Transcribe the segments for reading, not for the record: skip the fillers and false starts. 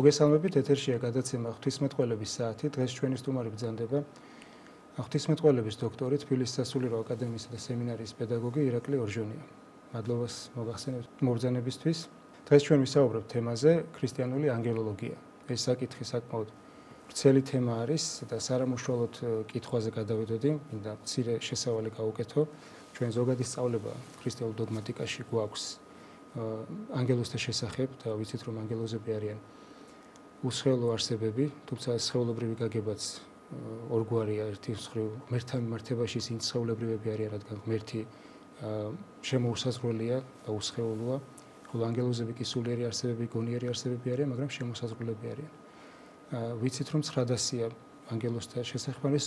მოგესალმებით, ეთერშია გადაცემა ღვთისმეტყველების საათი. დღეს ჩვენი სტუმარი ბრძანდება ღვთისმეტყველების დოქტორი, თბილისის სასულიერო აკადემიისა და სემინარიის პედაგოგი ირაკლი ორჟონია. მადლობას მოგახსენებთ მობრძანებისთვის. დღეს ჩვენ ვისაუბრებთ თემაზე ქრისტიანული ანგელოლოგია. ეს საკითხი საკმაოდ ვრცელი თემა არის და სარამუშავალოდ კითხვაზე გადავიდოდი, მინდა მცირე შესავალი გავუკეთო. ჩვენ ზოგადი სწავლება ქრისტიანულ დოგმატიკაში გვაქვს ანგელოზთა შესახებ და ვიცით რომ ანგელოზები არიან უსხეულო არსებები, თუმცა სხეულობრივი გაგებაც ორგვარია, ერთი მხრივ ღმერთთან მიმართებაში ისინი სხეულებრივები არიან, რადგან ღმერთი შემოუსაზღვრელია და უსხეულოა, ხოლო ანგელოზები კი სულიერი არსებები, გონიერი არსებები არიან, მაგრამ შემოსაზღვრელები არიან. ვიცით რომ 900-ია ანგელოზთა შესახებ, ეს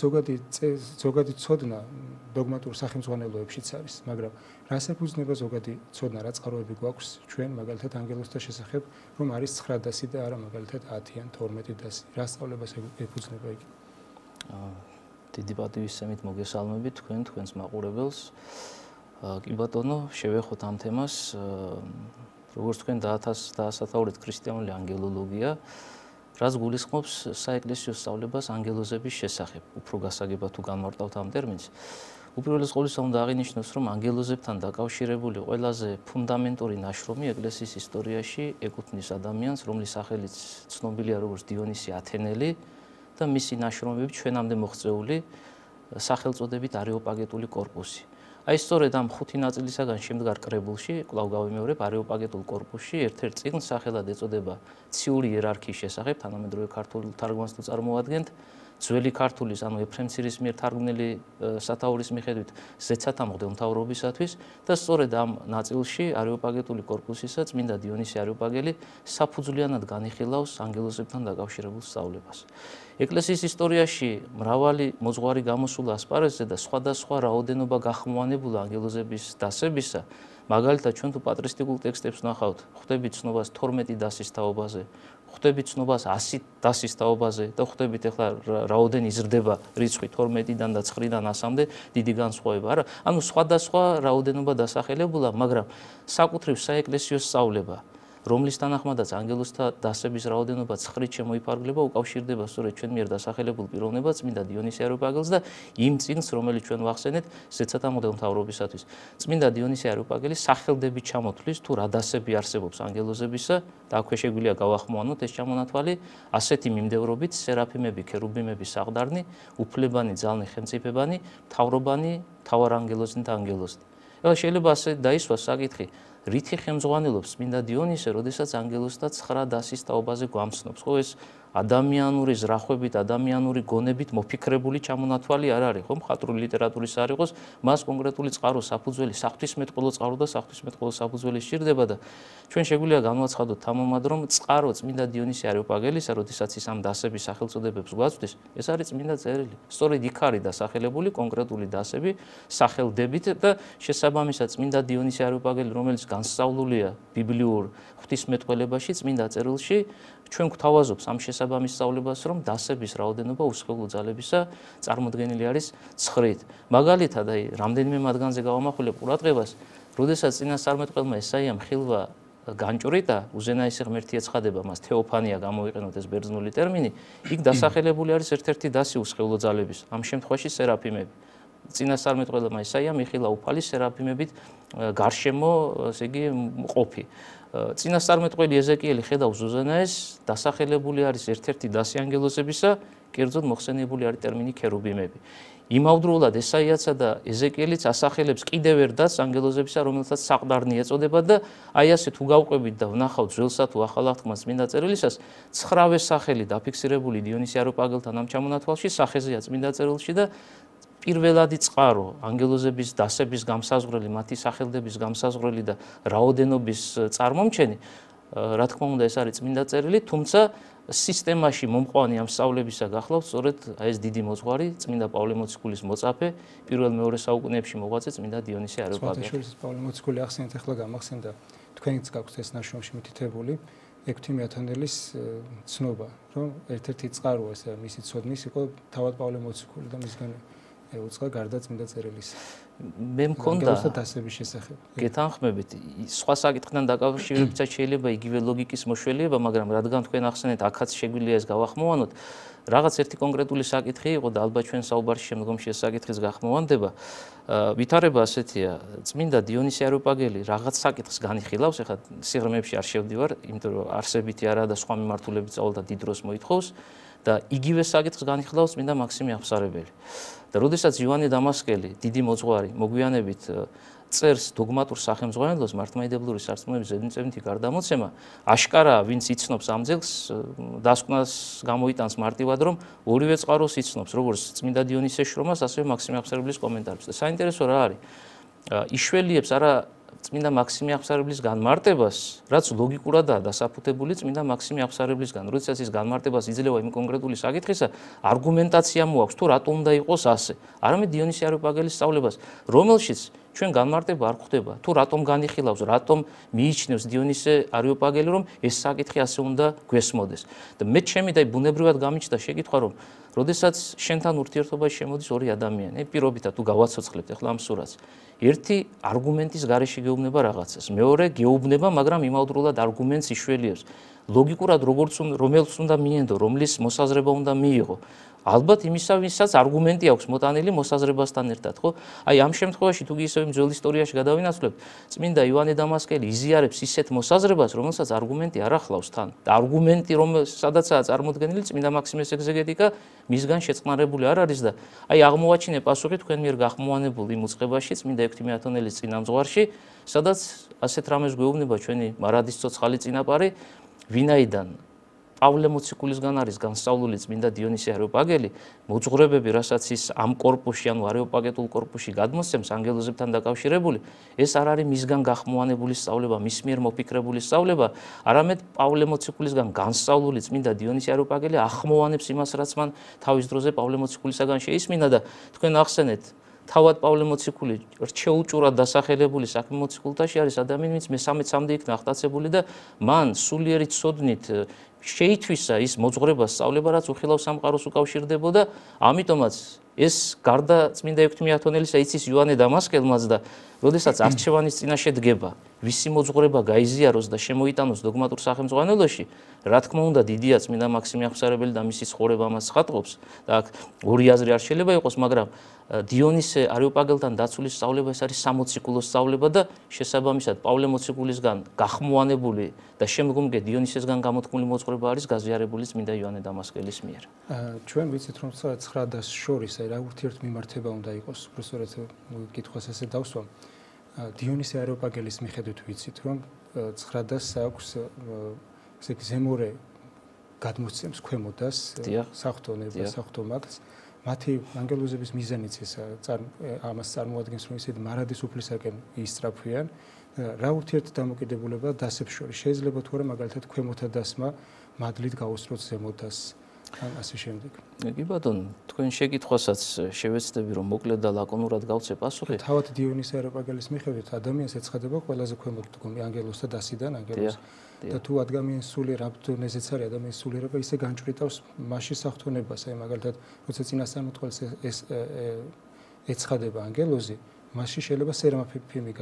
ზოგადი ცოდნა დოგმატურ სახელმძღვანელოებშიც არის, მაგრამ რას ეფუძნება ზოგადი ცოდნა, რა წყაროები გვაქვს ჩვენ მაგალითად ანგელოზთა შესახებ, რომ არის 900 და არა მაგალითად 10-იან, 12-1000. რა სწავლებას ეფუძნება იგი? დიდი პატივისცემით მოგესალმებით თქვენს მაყურებელს. კი ბატონო, შევეხოთ ამ თემას, როგორც თქვენ დაასათაურეთ ქრისტიანული ანგელოლოგია, რაც გულისხმობს საეკლესიო სწავლებას ანგელოზების შესახებ. უფრო გასაგებად თუ განმარტავთ ამ ტერმინს, უპირველეს ყოვლისა უნდა აღინიშნოს, რომ ანგელოზებთან დაკავშირებული ყველაზე ფუნდამენტური ნაშრომი ეკლესიის ისტორიაში ეკუთვნის ადამიანს, რომლის სახელიც ცნობილია როგორც დიონისი ათენელი და მისი ნაშრომები ჩვენამდე მოღწეული სახელწოდებით არეოპაგეტული კორპუსი. აი სწორედ ამ 5 ნაწილისაგან შემდგარ კრებულში, კვლავ გავიმეორებ, არეოპაგეტულ კორპუსში ერთ-ერთ წიგნს სახელად ეწოდება ციური იერარქიის შესახებ, თანამედროვე ქართულ თარგმანს თუ წარმოადგენთ, ძველი ქართულის, ანუ ეფრემ ცირის მიერ თარგმნილი სათაურის მიხედვით ზეცათა მღვდელმთავრობისათვის და სწორედ ამ ნაწილში არეოპაგეტული კორპუსისა წმინდა დიონისი არეოპაგელი საფუძვლიანად განიხილავს ანგელოზებთან დაკავშირებულ სწავლებას. ეკლესიის ისტორიაში მრავალი მოძღვარი გამოსულა ასპარეზზე და სხვადასხვა რაოდენობა გახმოვანებულა ანგელოზების დასებისა, მაგალითად ჩვენ თუ პატრისტიკულ ტექსტებს ვნახავთ, ხვდებით ცნობას 12 დასის თაობაზე, ხვდებით ცნობას 100 დასის თაობაზე და ხვდებით ახლა რაოდენი იზრდება რიცხვი 12-დან და 9-დან 100-მდე, დიდი განსხვავება არა. ანუ სხვადასხვა რაოდენობა დასახელებულა, მაგრამ საკუთრივ საეკლესიო სწავლება, რომლის თანახმადაც ანგელოზთა დასების რაოდენობა 9-ით შემოიფარგლება, უკავშირდება სწორედ ჩვენ მიერ დასახელებულ პიროვნებას წმინდა დიონისი არეოპაგელს და იმ წიგნს, რომელიც ჩვენ ვახსენეთ ზეცათა მღვდელმთავრობისათვის. წმინდა დიონისი არეოპაგელი სახელდებით ჩამოთვლის თუ რა დასები არსებობს ანგელოზებისა და აქვე შეგვიძლია გავახმოვანოთ ეს ჩამონათვალი ასეთი მიმდევრობით: სერაფიმები, ქერუბიმები, საყდარნი, უფლებანი, ძალნი, ხელმწიფებანი, მთავრობანი, მთავარანგელოზნი და ანგელოზნი. ეხლა შეიძლება ასე დაისვას საკითხი, რითი ხელმძღვანელობს წმინდა დიონისე, როდესაც ანგელოზთა 9 დასის თაობაზე გვამცნობს, ხო ეს ადამიანური ზრახვებით, ადამიანური გონებით მოფიქრებული ჩამონათვალი არ არის, ხო მხატვრული ლიტერატურის არ იყოს, მას კონკრეტული წყარო, საფუძველი, საღვთისმეტყველო წყარო და საღვთისმეტყველო საფუძველი სჭირდება და ჩვენ შეგვიძლია განვაცხადოთ თამამად, რომ წყარო წმინდა დიონისი არეოპაგელისა, როდესაც ის ამ დასების სახელწოდებებს გვაწვდის, ეს არის წმინდა წერილი. სწორედ იქ არის დასახელებული კონკრეტული დასები სახელდებით და შესაბამისად წმინდა დიონისი არეოპაგელი, რომელიც განსწავლულია ბიბლიურ ღვთისმეტყველებაში, წმინდა წერილში, ჩვენ გვთავაზობს ამ შესაბამის სწავლებას, რომ დასების რაოდენობა უსხეულო ძალებისა წარმოდგენილი არის 9-ით. მაგალითად, აი, რამდენიმე მათგანზე გავამახვილებ ყურადღებას, როდესაც წინასწარმეტყველმა ესაიამ ხილვა განჭვრიტა, უზენაესი ღმერთი ეცხადება მას, თეოფანია გამოიყენოთ ეს ბერძნული ტერმინი, იქ დასახელებული არის ერთ-ერთი დასი უსხეულო ძალების, ამ შემთხვევაში სერაფიმები. წინასწარმეტყველმა ესაიამ იხილა უფალი სერაფიმებით გარშემო, ესე იგი, ყოფი. წინასწარმეტყველი ეზეკიელი ხედავს უზენაეს, დასახელებული არის ერთ-ერთი დასი ანგელოზებისა, კერძოდ მოხსენიებული არის ტერმინი ქერუბიმები. იმავდროულად ესაიაცა და ეზეკიელიც ასახელებს კიდევ ერთ დასს ანგელოზებისა, რომელსაც საყდარნი ეწოდება და აი ასე თუ გავყვებით და ვნახავთ ძველსა თუ ახალ აღთქმას წმინდა წერილისას, 9-ვე სახელი დაფიქსირებული დიონისი არეოპაგელთან ამ ჩამონათვალში სახეზეა წმინდა წერილში და პირველადი წყარო ანგელოზების დასების გამსაზღვრელი, მათი სახელდების გამსაზღვრელი და რაოდენობის წარმომჩენი, რა თქმა უნდა ეს არის წმინდა წერილი, თუმცა სისტემაში მომყვანი ამ სწავლებისა გახლავთ სწორედ ეს დიდი მოძღვარი წმინდა პავლე მოციქულის მოწაფე პირველ-მეორე საუკუნეებში მოღვაწე წმინდა დიონისი არეოპაგელი. სხვადასხვა პავლე მოციქული ახსენეთ, ახლა გამახსენდა თქვენიც გაქვთ ეს ნაშრომში მითითებული ექვთიმე ათანელის ცნობა, რომ ერთ-ერთი წყარო ესე მისი ცოდნის იყო თავად პავლე მოციქული და მისგან ეუწყა გარდა წმინდა წერილისა. მე მქონდა დასების შესახებ. გეთანხმებით, სხვა საკითხთან დაკავშირებითაც შეიძლება იგივე ლოგიკის მოშველიება, მაგრამ რადგან თქვენ ახსენეთ, აქაც შეგვიძლია ეს გავახმოვანოთ, რაღაც ერთი კონკრეტული საკითხი იყო და ალბათ ჩვენ საუბარში შემდგომში ეს საკითხის გახმოვანდება. ვითარება ასეთია, წმინდა დიონისე არიოპაგელი რაღაც საკითხს განიხილავს, ეხლა სიღრმეებში არ შევდივარ, იმიტომ რომ არსებითი არა და სხვა მიმართულებით სწავლა დიდ დროს მოითხოვს და იგივე საკითხს განიხილავს წმინდა მაქსიმე აღსარებელი. და როდესაც იოანე დამასკელი, დიდი მოძღვარი, მოგვიანებით წერს დოგმატურ სახელმძღვანელოს მართლმადიდებლური სარწმუნოების ზედმიწევნითი გარდამოცემა, აშკარაა, ვინც იცნობს ამ ძეგლს, დასკვნას გამოიტანს მარტივად, რომ ორივე წყაროს იცნობს, როგორც წმინდა დიონისეს შრომას, ასევე მაქსიმე აღსარებლის კომენტარებს. და საინტერესო რა არის? იშველიებს არა წმინდა მაქსიმე აღსარებლის განმარტებას, რაც ლოგიკურადაა დასაფუთებული წმინდა მაქსიმე აღსარებლისგან. როდესაც ის განმარტებას იძლევა იმ კონკრეტული საკითხისა, არგუმენტაცია მოაქვს, თუ რატომ უნდა იყოს ასე. არამედ დიონისე არიოპაგელის სწავლებას, რომელშიც ჩვენ განმარტება არ გვხვდება, თუ რატომ განიხილავს, რატომ მიიჩნევს დიონისე არიოპაგელი, რომ ეს საკითხი ასე უნდა გვესმოდეს. და მე ჩემი და ბუნებრივად გამიჩნდა შეკითხვა, რომ როდესაც შენთან ურთიერთობაში შემოდის ორი ადამიანი, პირობითად თუ გავაცოცხლებთ ახლა ამ სურათს, ერთი არგუმენტის გარეშე გეუბნება რაღაცას, მეორე გეუბნება, მაგრამ იმავდროულად არგუმენტს იშველიებს. ლოგიკურად რომელს უნდა მიენდო, რომლის მოსაზრება უნდა მიიღო. ალბათ იმისა, ვისაც არგუმენტი აქვს მოტანილი მოსაზრებასთან ერთად, ხო? აი ამ შემთხვევაში თუ ისევ ძველ ისტორიაში გადავინაცვლებთ, წმინდა იოანე დამასკელი იზიარებს ისეთ მოსაზრებას, რომელსაც არგუმენტი არ ახლავს თან. და არგუმენტი, სადაცაა წარმოდგენილი წმინდა მაქსიმეს ეგზეგეტიკა, მისგან შეწყნარებული არ არის და აი აღმოვაჩინე პასუხი თქვენ მიერ გახმოვანებული იმ უწყებაში, წმინდა ექვთიმე ათონელის წინამძღვარში, სადაც ასეთ რამეს გვეუბნება ჩვენი მარადის ცოცხალი წინაპარი, ვინაიდან პავლე მოციქულისგან არის განსწავლული წმინდა დიონისე არიოპაგელი, მოძღვრებები, რასაც ის ამ კორპუსში, ანუ არიოპაგეტულ კორპუსში გადმოსცემს ანგელოზებთან დაკავშირებული, ეს არ არის მისგან გახმოვანებული სწავლება, მის მიერ მოფიქრებული სწავლება, არამედ პავლე მოციქულისგან განსწავლული წმინდა დიონისე არიოპაგელი ახმოვანებს იმას, რაც მან თავის დროზე პავლე მოციქულისაგან შეისმინა და თქვენ ახსენეთ, თავად პავლე მოციქული რჩეუჭურად დასახელებული საქმე მოციქულთაში არის ადამიანი, ვინც მესამე-ცამდე იქნა აღტაცებული და მან სულიერი ცოდნით შეითვისა ის მოძღვრება სწავლება, რაც უხილავ სამყაროს უკავშირდებოდა, ამიტომაც ეს გარდა წმინდა ექვთიმე ათონელისა იცის იოანე დამასკელმაც და როდესაც არჩევანის წინაშე დგება, ვისი მოძღვრება გაიზიაროს და შემოიტანოს დოგმატურ სახელმძღვანელოში, რა თქმა უნდა დიდია წმინდა მაქსიმე აღსარებელი და მისი ცხოვრება ამას ხატყობს და აქ ორი აზრი არ შეიძლება იყოს, მაგრამ დიონისე არიოპაგელთან დაცული სწავლება ეს არის სამოციქულო სწავლება და შესაბამისად პავლე მოციქულისგან გახმოვანებული და შემდგომგე დიონისესგან გამოთქმული მოძღვრება არის გაზიარებული წმინდა იოანე დამასკელის მიერ. ჩვენ ვიცით რომ 9 და შორის რა ურთიერთმიმართება უნდა იყოს, უბრალოდ კითხვას ესე დავსვამ. დიონისე არიოპაგელის მიხედვით ვიცით რომ 9 და აქვს ესე ზემორე გადმოსცემს ქვემოდას საღვთონებას, საღვთომაგს. მათი ანგელოზების მიზანიც ამას წარმოადგენს, რომ ისეთი მარადის უფლისაკენ ისწრაფვიან. რა ურთიერთდამოკიდებულება დასებს შორის შეიძლება თუ არა მაგალითად ქვემოთა დასმა მადლით გაუსწროთ ზემოდას ან ასე შემდეგ. კი ბატონო, თქვენ შეკითხვასაც შევეცდები რომ მოკლედ და ლაკონურად გავცე პასუხი. თავად დიონისე არიოპაგელის მიხედვით ადამიანს ეცხადება ყველაზე ქვემოთ დგომი ანგელოზთა დასიდან ანგელოზ და თუ ადამიანის სულიერ აბდონეზეც არის ადამიანის სულიერება ისე განჭვრიტავს მასში საღვთონებას, აი მაგალითად როცა წინასწარმეტყველს ეს ეცხადება ანგელოზი, მასში შეიძლება სერაფიმი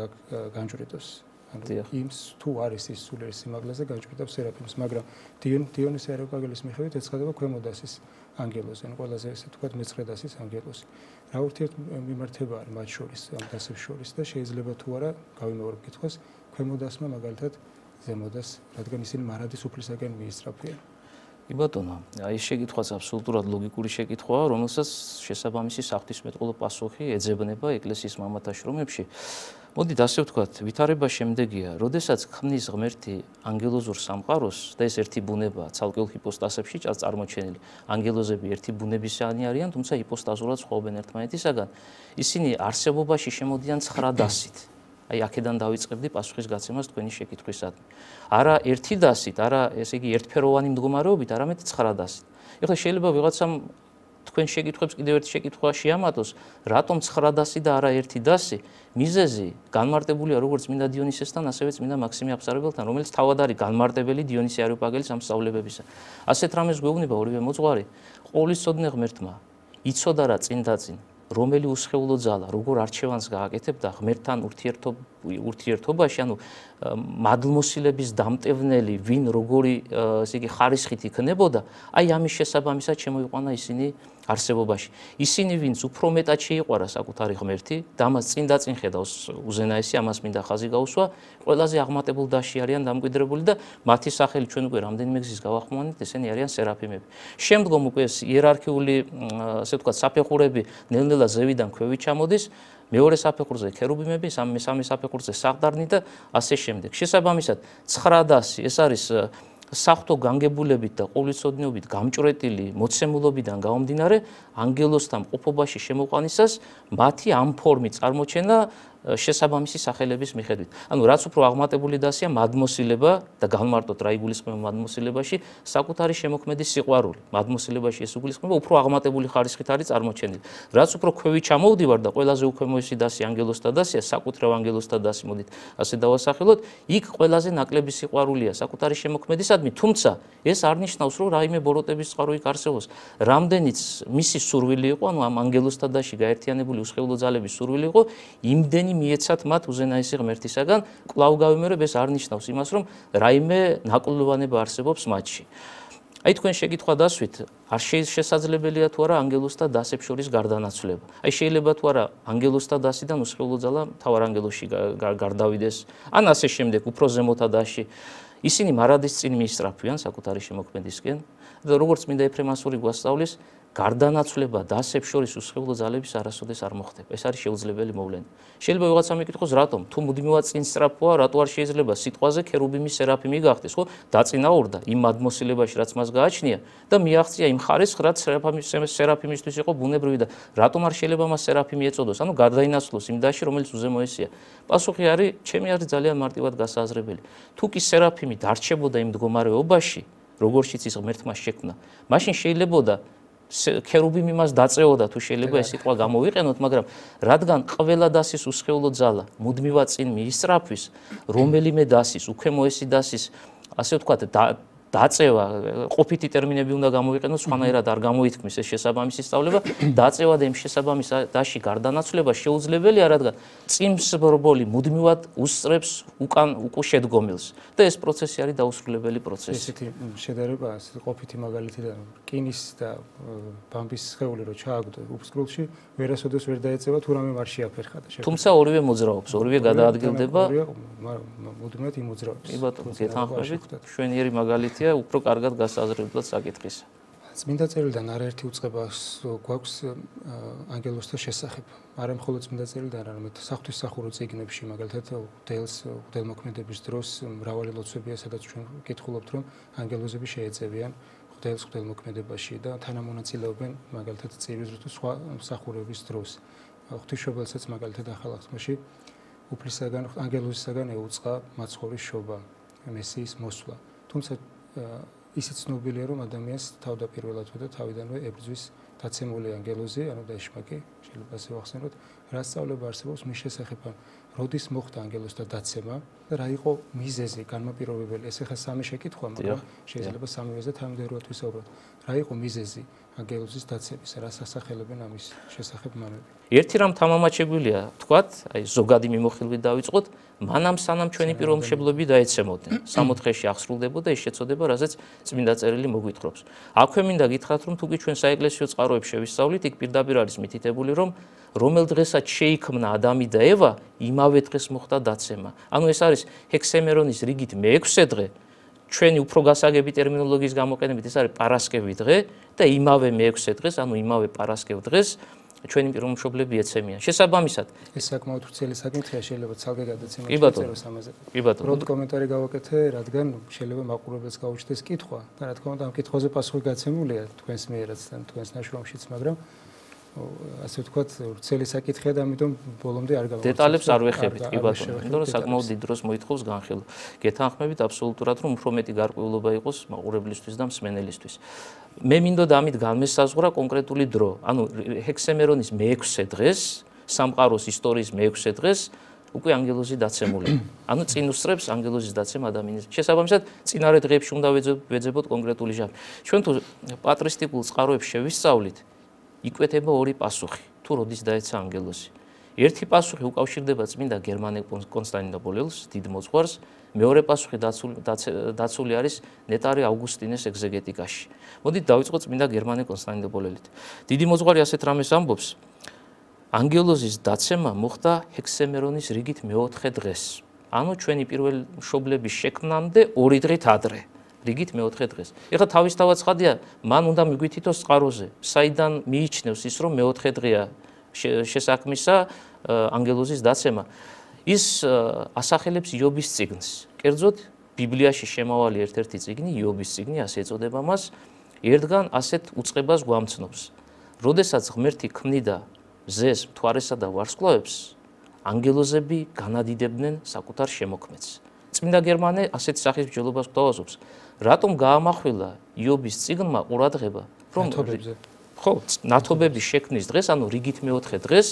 განჭვრიტოს. ანუ იმ თუ არის ის სულიერ სიმაღლეზე განჭვრიტავს სერაფიმს, მაგრამ დიონისე არიოპაგელის მიხედვით ეცხადება ქვემოდასის ანგელოზი, ანუ ყველაზე ესე თქვა მეცხრედასის ანგელოზი. რა ურთიერთმიმართება არის მათ შორის, ამ დასებს შორის და შეიძლება თუ არა გავიმეორებ კითხვას, ქვემოდასმა მაგალითად ზემოდას, რადგან ისინი მარადის უფლისაკენ მიისწრაფვიან. კი ბატონო, აი ეს შეკითხვაც აბსოლუტურად ლოგიკური შეკითხვაა, რომელსაც შესაბამისი საღვთისმეტყველო პასუხი ეძებნება ეკლესიის მამათა შრომებში. მოდით ასე ვთქვათ, ვითარება შემდეგია, როდესაც ქმნის ღმერთი ანგელოზურ სამყაროს და ეს ერთი ბუნება ცალკეულ ჰიპოსტასებში წარმოჩენილი. ანგელოზები ერთი ბუნებისანი არიან, თუმცა ჰიპოსტაზურად სხვაობენ ერთმანეთისაგან. ისინი არსებობაში შემოდიან 9 დასით. აი აქედან დავიწყებდი პასუხის გაცემას თქვენი შეკითხვისადმი. არა ერთი დასით, არა ესე იგი ერთფეროვანი მდგომარეობით, არამედ 9 დასით. ეხლა შეიძლება ვიღაცამ თქვენ შეკითხვებს კიდევ ერთი შეკითხვა შეამატოს, რატომ 9 დასი და არა ერთი დასი? მიზეზი განმარტებულია როგორც წმინდა დიონისესთან, ასევე წმინდა მაქსიმე აღსარებელთან, რომელიც თავად არის განმარტებელი დიონისე არიოპაგელის ამ სწავლებებისა. ასეთ რამეს გვეუბნება ორივე მოძღვარი, ყოვლისწოდნე ღმერთმა იცოდა რა წინ და წინ რომელი უსხეულო ძალა როგორ არჩევანს გააკეთებ და ღმერთთან ურთიერთობაში, ანუ მადლმოსილების დამტევნელი ვინ როგორი ესე იგი ხარისხით იქნებოდა, აი ამის შესაბამისად შემოიყვანა ისინი არსებობაში. ისინი ვინც უფრო მეტად შეიყვარა საკუთარი ღმერთი და ამას წინ და წინ ხედავს უზენაესი, ამას მინდა ხაზი გაუსვა, ყველაზე აღმატებულ დასში არიან დამკვიდრებული და მათი სახელი ჩვენ უკვე რამდენიმე გზის გავახმოვანეთ, ესენი არიან სერაფიმები. შემდგომ უკვე ეს იერარქიული, ასე ვთქვათ, საფეხურები ნელ-ნელა ზევიდან ქვევით ჩამოდის, მეორე საფეხურზე ქერუბიმები, მესამე საფეხურზე საყდარნი და ასე შემდეგ. შესაბამისად 900 ეს არის საღვთო განგებულებით და ყოვლისოდნობით გამჭვრეტილი მოცემულობიდან გამომდინარე ანგელოსთან ყოფობაში შემოყვანისას მათი ამ ფორმით წარმოჩენა შესაბამისი სახელების მიხედვით. ანუ რაც უფრო აღმატებული დასია მადმოსილება და განმარტოთ რა იგულისხმება მადმოსილებაში, საკუთარი შემოქმედის სიყვარული. მადმოსილებაში ეს იგულისხმება უფრო აღმატებული ხარისხით არის წარმოჩენილი. რაც უფრო ქვევით ჩამოვდივარ და ყველაზე უქვემოესი დასი ანგელოსთა დასია, საკუთრივ ანგელოსთა დასი, მოდით ასე დავასახელოთ, იქ ყველაზე ნაკლები სიყვარულია საკუთარი შემოქმედისადმი, თუმცა ეს არ ნიშნავს, რომ რაიმე ბოროტების წყარო იქ არსებობს. რამდენიც მისი სურვილი იყო, ანუ ამ ანგელოსთა დასში გაერთიანებული უსხეულო ძალების სურვილი იყო, იმდენი მიეცათ მათ უზენაესი ღმერთისაგან, კვლავ გავიმეორებ, ეს არ ნიშნავს იმას, რომ რაიმე ნაკლებობა არსებობს მათში. აი თქვენ შეკითხვა დასვით, არ შესაძლებელია თუ არა ანგელოსთა დასებს შორის გარდანაცვლება. აი შეიძლება თუ არა ანგელოსთა დასიდან უსხეულო ძალა მთავარ ანგელოსში გარდავიდეს, ან ასე შემდეგ, უფრო ზემოთა დასში. ისინი მარადის წინ მიისწრაფვიან საკუთარი შემოქმედისკენ და როგორც მინდა ეფრემასური გვასწავლის, გარდანაცვლება დასებს შორის უსხეულო ძალების არასოდეს არ მოხდება. ეს არის შეუძლებელი მოვლენა. შეიძლება ვიღაცა მეკითხოს, რატომ? თუ მუდმივად წინ სწრაფოა, რატო არ შეიძლება სიტყვაზე ქერუბიმი სერაფიმი გახდეს, ხო? დაწინაურდა იმ მადმოსილებაში, რაც მას გააჩნია და მიაღწია იმ ხარისხს, რაც სერაფიმისთვის იყო ბუნებრივი და რატომ არ შეიძლება მას სერაფიმი ეწოდოს? ანუ გარდაინაცვლოს იმ დასში, რომელიც უზემოესია. პასუხი არის, ჩემი აზრით ძალიან მარტივად გასააზრებელი. თუ კი სერაფიმი დარჩებოდა იმ მდგომარეობაში, როგორშიც ის ღმერთმა შექმნა, მაშინ შეიძლებოდა ქერუბიმი მას დაწეოდა თუ შეიძლება ეს სიტყვა გამოვიყენოთ, მაგრამ რადგან ყველა დასის უსხეულო ძალა მუდმივად წინ მიისწრაფვის, რომელიმე დასის, უქვემოესი დასის, ასე ვთქვათ, დაწევა, ყოფითი ტერმინები უნდა გამოვიყენოთ, სხვანაირად არ გამოითქმის ეს შესაბამისი სწავლება, დაწევა და იმ შესაბამის დასში გარდანაცვლება შეუძლებელია, რადგან წინსბრბოლი მუდმივად უსწრებს უკან შედგომილს და ეს პროცესი არის დაუსრულებელი პროცესი. ესეთი შედარება, ყოფითი მაგალითიდან რკინის და ბამბის სხეული რო ჩააგდო უფსკრულში, ვერასოდეს ვერ დაეწევა თუ რამე არ შეაფერხა და თუმცა ორივე მოძრაობს, ორივე გადაადგილდება. მუდმივად იმოძრაობს. კი ბატონო, გეთანხმებით, შვენიერი მაგალითია უფრო კარგად გასაზრდებლად საკითხისა. წმინდა წერილიდან არაერთი უწყება გვაქვს ანგელოსთა შესახებ. არა მხოლოდ წმინდა წერილიდან, არამედ საღვთისმსახურო წიგნებში, მაგალითად ღვთელმოქმედების დროს მრავალი ლოცვებია, სადაც ჩვენ ვკითხულობთ, რომ ანგელოზები შეეწევიან ღვთელმოქმედებაში და თანამონაწილეობენ მაგალითად წირვის თუ სხვა მსახურების დროს. ღვთისმშობელსაც მაგალითად ახალ აღთქმაში უფლისაგან ანგელოზისაგან ეუწყა მაცხოვრის შობა, მესიის მოსვლა. თუმცა ისიც ცნობილია, რომ ადამიანს თავდაპირველად და თავიდანვე ებრძვის დაცემული ანგელოზი, ანუ დაეშმაკი, შეიძლება ასე ვახსენოთ, რა სწავლება არსებობს მის შესახებ, როდის მოხდა ანგელოზთა დაცემა და რა იყო მიზეზი, განმაპირობებელი. ეს ახლა სამი შეკითხვა, მაგრამ შეიძლება სამივეზე თანმიმდევრულად ვისაუბროთ. რა იყო მიზეზი ანგელოზის დაცემის, რა სასახელებენ ამის შესახებ მამები? ერთი რამ თამამად შეგვიძლია თქვათ, აი ზოგადი მიმოხილვით დავიწყოთ, მანამ სანამ ჩვენი პიროვნებები დაეცემოდნენ, 60-ში აღსრულდებოდა ის შეწოდება, რასაც წმინდა წერილი მოგვითხრობს. აქვე მინდა გითხრათ, რომ თუკი ჩვენ საეკლესიო წყაროებს შევისწავლით, იქ პირდაპირ არის მითითებული, რომ რომელ დღესაც შეიქმნა ადამი და ევა, იმავე დღეს მოხდა დაცემა. ანუ ეს არის ჰექსემერონის რიგით მე-6 დღე, ჩვენი უფრო გასაგები ტერმინოლოგიის გამოყენებით ეს არის პარასკევი დღე და იმავე მე-6 დღეს, ანუ იმავე პარასკევ დღეს ჩვენი პიროვნებები ეცემიან. შესაბამისად, ეს საკმაოდ ვრცელი საკითხია, შეიძლება ცალკე გადაცემა შეწეროს ამაზე. კი ბატონო. πρώτ კომენტარი გავაკეთე, რადგან შეიძლება მაყურებელს გაუჩნდეს კითხვა და რა თქმა უნდა ამ კითხვაზე პასუხი გაცემულია თქვენს მიერაც და თქვენს ნაშრომშიც, მაგრამ ასე ვთქვათ, ვრცელი საკითხია და ამიტომ ბოლომდე არ გავაკეთე. დეტალებს არ ვეხებით, კი ბატონო, იმიტომ რომ საკმაოდ დიდ დროს მოითხოვს განხილვა. გეთანხმებით აბსოლუტურად, რომ უფრო მეტი გარკვეულობა იყოს მაყურებლისთვის და მსმენელისთვის. მე მინდოდა ამით განმესაზღვრა კონკრეტული დრო. ანუ ჰექსემერონის მე-6 დღეს, სამყაროს ისტორიის მე-6 დღეს უკვე ანგელოზი დაცემულია. ანუ წინ უსწრებს ანგელოზის დაცემა ადამიანის. შესაბამისად, წინარე დღეებში უნდა ვეძებოთ კონკრეტული ჟამი. ჩვენ თუ პატრისტიკულ წყაროებს შევისწავლით, იკვეთება ორი პასუხი. თუ როდის დაეცა ანგელოზი. ერთი პასუხი უკავშირდება წმინდა გერმანე კონსტანტინოპოლელს, დიდ მოძღვარს, მეორე პასუხი დაცული არის ნეტარი ავგუსტინეს ეგზეგეტიკაში. მოდით დავიწყოთ წმინდა გერმანე კონსტანტინოპოლელით. დიდი მოძღვარი ასეთ რამეს ამბობს: ანგელოზის დაცემა მოხდა ჰექსემერონის რიგით მეოთხე დღეს. ანუ ჩვენი პირველი მშობლების შექმნამდე 2 დღით ადრე. რიგით მეოთხე დღეს. ეხლა თავისთავად ცხადია, მან უნდა მიგვითითოს წყაროზე, საიდან მიიჩნევს ის, რომ მეოთხე დღეა შესაქმისა ანგელოზის დაცემა. ის ასახელებს იობის წიგნს. კერძოდ ბიბლიაში შემავალი ერთ-ერთი წიგნი, იობის წიგნი, ასე ეწოდება მას, ერთგან ასეთ უწყებას გვამცნობს. როდესაც ღმერთი ქმნიდა მზეს, მთვარესა და ვარსკვლავებს, ანგელოზები განადიდებდნენ საკუთარ შემოქმედს. წმინდა გერმანე ასეთ სახის მსჯელობას გვთავაზობს. რატომ გაამახვილა იობის წიგნმა ყურადღება, რომ ნათობების შექმნის დღეს, ანუ რიგით მეოთხე დღეს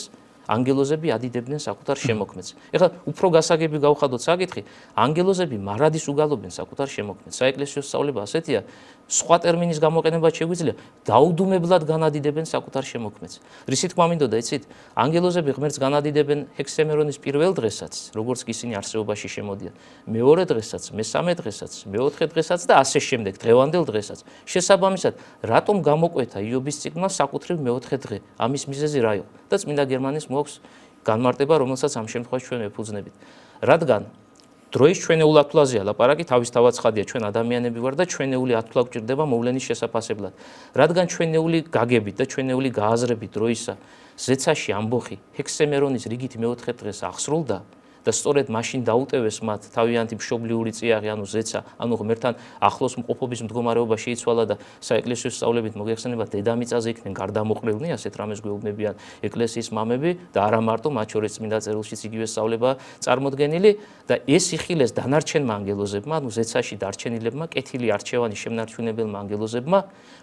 ანგელოზები ადიდებდნენ საკუთარ შემოქმედს. ეხლა უფრო გასაგები გავხადოთ საკითხი, ანგელოზები მარადის უგალობენ საკუთარ შემოქმედს. საეკლესიო სწავლება ასეთია, სხვა ტერმინის გამოყენებაც შეგვიძლია, დაუდუმებლად განადიდებენ საკუთარ შემოქმედს. რისი თქმა მინდოდა, იცით? ანგელოზები ღმერთს განადიდებენ ჰექსემერონის პირველ დღესაც, როგორც კი ისინი არსებობაში შემოდიან, მეორე დღესაც, მესამე დღესაც, მეოთხე დღესაც და ასე შემდეგ, დღევანდელ დღესაც. შესაბამისად, რატომ გამოკვეთა იობის წიგნმა საკუთრივ მეოთხე დღე? ამის მიზეზი რა იყო? და წმინდა გერმანეს მოაქვს განმარტება, რომელსაც ამ შემთხვევაში ჩვენ ვეფუძნებით. რადგან დროის ჩვენეულ ათვლაზეა ლაპარაკი, თავისთავად ცხადია, ჩვენ ადამიანები ვარ და ჩვენეული ათვლა გვჭირდება მოვლენის შესაფასებლად. რადგან ჩვენეული გაგებით და ჩვენეული გააზრებით დროისა ზეცაში ამბოხი ჰექსემერონის რიგით მეოთხე დღეს აღსრულდა და სწორედ მაშინ დაუტევეს მათ თავიანთი მშობლიური წიაღი, ანუ ზეცა, ანუ ღმერთთან ახლოს მყოფობის მდგომარეობა შეიცვალა და საეკლესიო სწავლებით მოგეხსენება დედამიწაზე იქნენ გარდამოყრილნი, ასეთ რამეს გვეუბნებიან ეკლესიის მამები და არა მარტო, მათ შორის წმინდა წერილშიც იგივე სწავლება წარმოდგენილი და ეს იხილეს დანარჩენმა ანგელოზებმა, ანუ ზეცაში დარჩენილებმა, კეთილი არჩევანი შემნარჩუნებელმა ანგელოზებმა,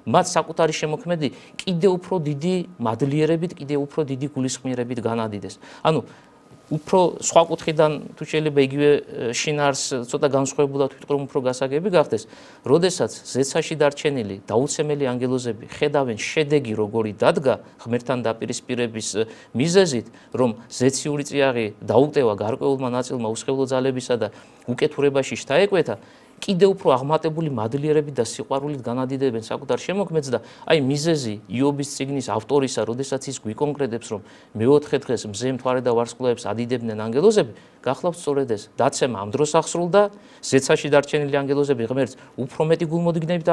მათ საკუთარი შემოქმედი კიდევ უფრო დიდი მადლიერებით, კიდევ უფრო დიდი გულისხმიერებით განადიდეს. ანუ უფრო სხვა კუთხიდან თუ შეიძლება იგივე შინაარს ცოტა განსხვავებულად ვიტყრომ უფრო გასაგები გახდეს, როდესაც ზეცაში დარჩენილი დაუცემელი ანგელოზები ხედავენ შედეგი როგორი დადგა ღმერთთან დაპირისპირების მიზეზით, რომ ზეციური წიაღი დაუტევა გარკვეულმა ნაწილმა უსხელო ძალებისა და უკეთურებაში შთაეკვეთა, კიდევ უფრო აღმატებული მადლიერებით და სიყვარულით განადიდებენ საკუთარ შემოქმედს და აი მიზეზი იობის წიგნის ავტორისა, როდესაც ის გვიკონკრეტებს, რომ მეოთხე დღეს მზე, მთვარე და ვარსკვლავებს ადიდებდნენ ანგელოზები, გახლავთ სწორედ ეს. დაცემა ამ დროს აღსრულდა, ზეცაში დარჩენილი ანგელოზები ღმერთს უფრო მეტი გულმოდგინებით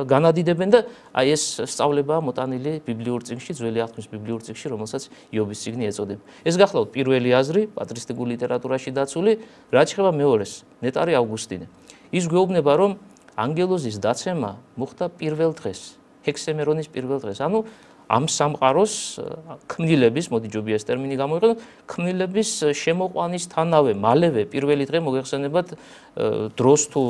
განადიდებენ და აი ეს სწავლებაა მოტანილი ბიბლიურ წიგნში, ძველი აღთქმის ბიბლიურ წიგნში, რომელსაც იობის წიგნი ეწოდება. ეს გახლავთ პირველი აზრი, პატრისტიკულ ლიტერატურაში დაცული, რაც შეეხება მეორეს, ნეტარი ავგუსტინე. ის გვეუბნება, რომ ანგელოზის დაცემა მოხდა პირველ დღეს, ჰექსემერონის პირველ დღეს. ანუ ამ სამყაროს ქმნილების, მოდი ჯობია ეს ტერმინი გამოვიყენოთ, ქმნილების შემოყვანისთანავე, მალევე პირველი დღე მოგეხსენებათ დროს თუ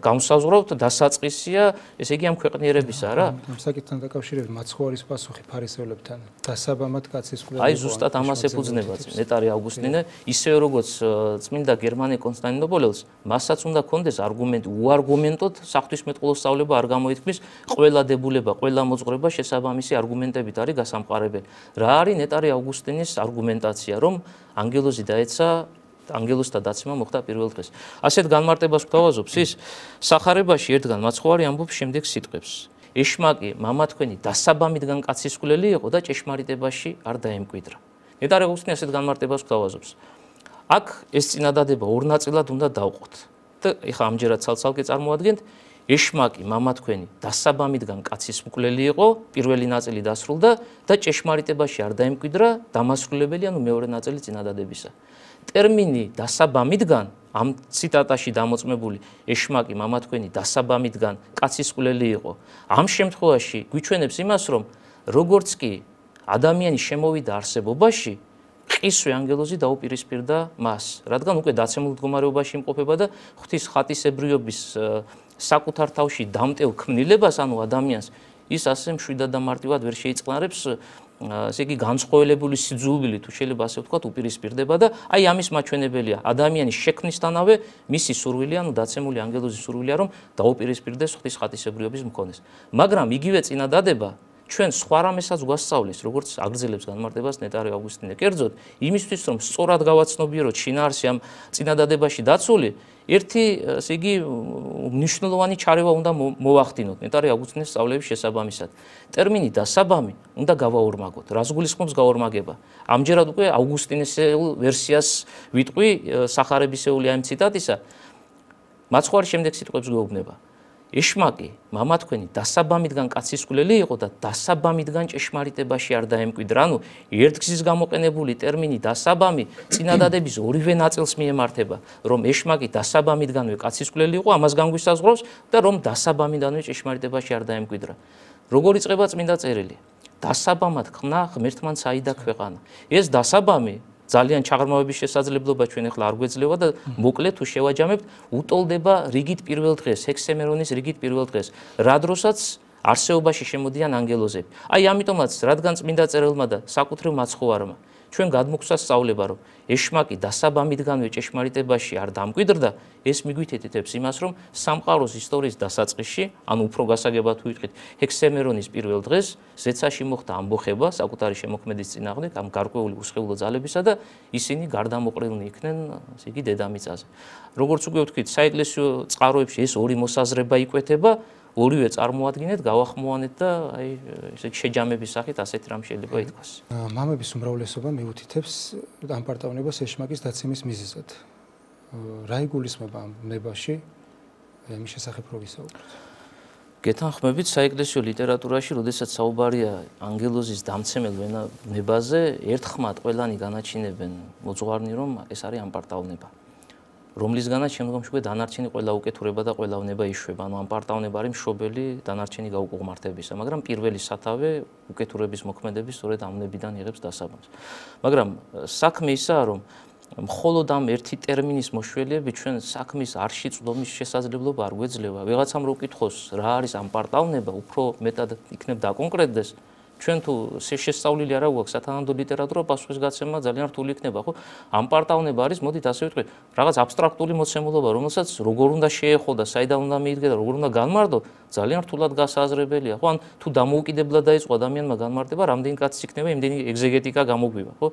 განსაზღვრავთ დასაწყისია, ესე იგი ამ ქვეყნიერებისა რა. ამ საკითხთან დაკავშირებით მაცხოვრის პასუხი ფარისევლებთან დასაბამად კაცის კვლევა. აი ზუსტად ამას ეფუძნება ნეტარი ავგუსტინე, ისევე როგორც წმინდა გერმანე კონსტანტინოპოლელს, მასაც უნდა კონდეს არგუმენტი, უარგუმენტოდ საღვთისმეტყველო სწავლება არ გამოითქმის, ყველა დებულება, ყველა მოძღვრება შესაბამისი არგუმენტებით არის გასამყარებელი. რა არის ნეტარი ავგუსტინის არგუმენტაცია, რომ ანგელოზი დაეცა ანგელოზთა დაცემა მოხდა პირველ დღეს. ასეთ განმარტებას გვთავაზობს ის სახარებაში ერთგან მაცხოვარი ამბობს შემდეგ სიტყვებს. ეშმაკი მამა თქვენი დასაბამიდან კაცისკვლელი იყო და ჭეშმარიტებაში არ დაემკვიდრა. ნეტარი ავგუსტინე ასეთ განმარტებას გვთავაზობს. აქ ეს წინადადება ორ ნაწილად უნდა დავყოთ. და ეხლა ამჯერად ცალ-ცალკე წარმოადგენთ. ეშმაკი მამა თქვენი დასაბამიდან კაცისმკვლელი იყო, პირველი ნაწილი დასრულდა და ჭეშმარიტებაში არ დაემკვიდრა, დამასრულებელი, ანუ მეორე ნაწილი წინადადებისა. ტერმინი დასაბამიდან ამ ციტატაში დამოწმებული ეშმაკი მამა თქვენი დასაბამიდან კაცისმკვლელი იყო. ამ შემთხვევაში გვიჩვენებს იმას, რომ როგორც კი ადამიანი შემოვიდა არსებობაში, ყისვე ანგელოზი დაუპირისპირდა მას, რადგან უკვე დაცემულ მდგომარეობაში იმყოფება და ღვთის ხატისებრიობის საკუთარ თავში დამტევ ქმნილებას, ანუ ადამიანს, ის ასე მშვიდად და მარტივად ვერ შეიწყნარებს, ესე იგი განსხვავებული სიძულვილი თუ შეიძლება ასე ვთქვათ, უპირისპირდება და აი ამის მაჩვენებელია ადამიანის შექმნისთანავე მისი სურვილი, ანუ დაცემული ანგელოზის სურვილია, რომ დაუპირისპირდეს ღვთის ხატისებრიობის მქონეს. მაგრამ იგივე წინადადება ჩვენ სხვა რამესაც გვასწავლის, როგორც აგრძელებს განმარტებას ნეტარი ავგუსტინე. კერძოდ, იმისთვის რომ სწორად გავაცნობიეროთ შინაარსი ამ წინადადებაში დაცული, ერთი, ესე იგი, მნიშვნელოვანი ჩარევა უნდა მოვახდინოთ ნეტარი ავგუსტინეს სწავლების შესაბამისად. ტერმინი დასაბამი უნდა გავაორმაგოთ. რას გულისხმობს გაორმაგება? ამჯერად უკვე ავგუსტინესეულ ვერსიას ვიტყვი სახარებისეული ამ ციტატისა. მაცხვარი შემდეგ სიტყვებს გვეუბნება. ეშმაკი, მამა თქვენი დასაბამიდან კაცისკვლელი იყო და დასაბამიდან ჭეშმარიტებაში არ დაემკვიდრა. ანუ ერთგზის გამოყენებული ტერმინი დასაბამი წინადადების ორივე ნაწილს მიემართება, რომ ეშმაკი დასაბამიდანვე კაცისკვლელი იყო, ამას განგვისაზღვრავს და რომ დასაბამიდანვე ჭეშმარიტებაში არ დაემკვიდრა. როგორ იწყება წმინდა წერილი? დასაბამად ხნა ღმერთმან საიდა ქვეყანა. ეს დასაბამი ძალიან ჩაღრმავების შესაძლებლობა ჩვენ ახლა არ გვეძლევა და მოკლედ თუ შევაჯამებთ, უტოლდება რიგით პირველ დღეს, ჰექსემერონის რიგით პირველ დღეს, რა დროსაც არსეობაში შემოდიან ანგელოზები. აი ამიტომაც, რადგან წმინდა წერილმა და საკუთრივ მაცხოვარმა ჩვენ გადმოგვსა სწავლება, რომ ეშმაკი დასაბამიდანვე ჭეშმარიტებაში არ დამკვიდრდა, ეს მიგვითითებს იმას, რომ სამყაროს ისტორიის დასაწყისში, ანუ უფრო გასაგებად ვიტყვით, ჰექსემერონის პირველ დღეს ზეცაში მოხდა ამბოხება საკუთარი შემოქმედის წინააღმდეგ, ამ გარკვეული უსხეულო ძალებისა და ისინი გარდამოყრილნი იქნენ, ასე იგი, დედამიწაზე. როგორც უკვე ვთქვით, საეკლესიო წყაროებში ეს ორი მოსაზრება იკვეთება, ორივე წარმოადგენთ, გავახმოვანეთ და აი ესე შეჯამების სახით ასეთი რამ შეიძლება ითქვას. მამების უმრავლესობა მიუთითებს ამ პარტავნებას ეშმაკის დაცემის მიზეზად. რა იგულისხმება ამ ნებაში? იმის შესახებ რო ვისაუბროთ. გეთანხმებით, საეკლესიო ლიტერატურაში, როდესაც საუბარია ანგელოზის დამცემელ ნებაზე, ერთხმად ყველანი განაჩინებენ მოძღვარნი, რომ ეს არის ამ პარტავნება. რომლისგანაც შემდგომში უკვე დანარჩენი ყველა უკეთურება და ყველა უნება იშვება. ანუ ამ პარტავნება არის მშობელი დანარჩენი გაუკუღმართებისა, მაგრამ პირველი სათავე უკეთურების მოქმედების სწორედ ამ ნებიდან იღებს დასაბამს. მაგრამ საქმე ისაა, რომ მხოლოდ ამ ერთი ტერმინის მოშველიებით ჩვენ საქმის არში წვდომის შესაძლებლობა არ გვეძლევა. ვიღაცამ რო უკითხოს რა არის ამ პარტავნება, უფრო მეტად იქნებ დაკონკრეტდეს. ჩვენ თუ შესწავლილი არა გვაქვს სათანადო ლიტერატურა, პასუხის გაცემა ძალიან რთული იქნება, ხო? ამ პარტავნება არის, მოდით ასე ვიტყვით, რაღაც აბსტრაქტული მოცემულობა, რომელსაც როგორ უნდა შეეხო და საიდან უნდა მიიღო და როგორ უნდა განმარტო, ძალიან რთულად გასაზრებელია, ხო? ან თუ დამოუკიდებლად დაიწყო ადამიანმა განმარტება, რამდენი კაცი იქნება, იმდენი ეგზეგეტიკა გამოგვივა, ხო?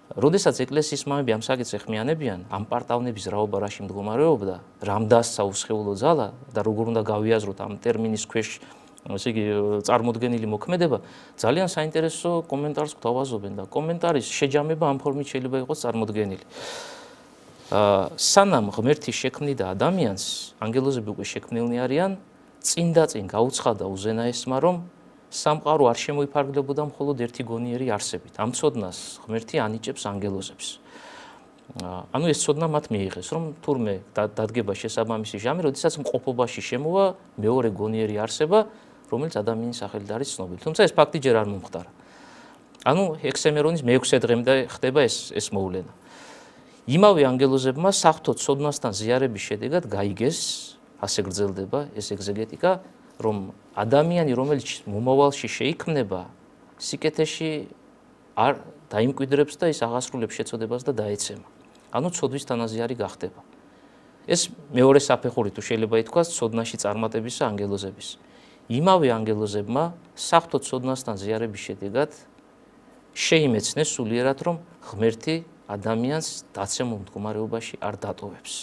როდესაც ეკლესიის მამები ამ საკითხს ეხმიანებიან, ამ პარტავნების რაობა რაში მდგომარეობდა, რამ დასცა უსხეულო ძალა და როგორ უნდა გავიაზროთ ამ ტერმინის ქვეშ ესე იგი წარმოდგენილი მოქმედება, ძალიან საინტერესო კომენტარს გვთავაზობენ და კომენტარის შეჯამება ამ ფორმით შეიძლება იყოს წარმოდგენილი. სანამ ღმერთი შექმნიდა ადამიანს, ანგელოზები უკვე შექმნილნი არიან, წინ და წინ გაუცხადა უზენაესმა, რომ სამყარო არ შემოიფარგლებოდა მხოლოდ ერთი გონიერი არსებით. ამ ცოდნას ღმერთი ანიჭებს ანგელოზებს. ანუ ეს ცოდნა მათ მიიღეს, რომ თურმე დადგება შესაბამისი ჟამი, როდესაც მყოფობაში შემოვა მეორე გონიერი არსება, რომელიც ადამიანის სახელით არის ცნობილი. თუმცა ეს ფაქტი ჯერ არ მომხდარა. ანუ ჰექსემერონის მე-6 დღემდე ხდება ეს მოვლენა. იმავე ანგელოზებმა საღვთო ცოდნასთან ზიარების შედეგად გაიგეს, ასე გრძელდება ეს ეგზეგეტიკა, რომ ადამიანი, რომელიც მომავალში შეიქმნება, სიკეთეში არ დაიმკვიდრებს და ის აღასრულებს შეწოდებას და დაეცემა. ანუ ცოდვის თანაზიარი გახდება. ეს მეორე საფეხური თუ შეიძლება ითქვას ცოდნაში წარმატებისა ანგელოზების. იმავე ანგელოზებმა საღვთო ცოდნასთან ზიარების შედეგად შეიმეცნეს სულიერად, რომ ღმერთი ადამიანს დაცემულ მდგომარეობაში არ დატოვებს.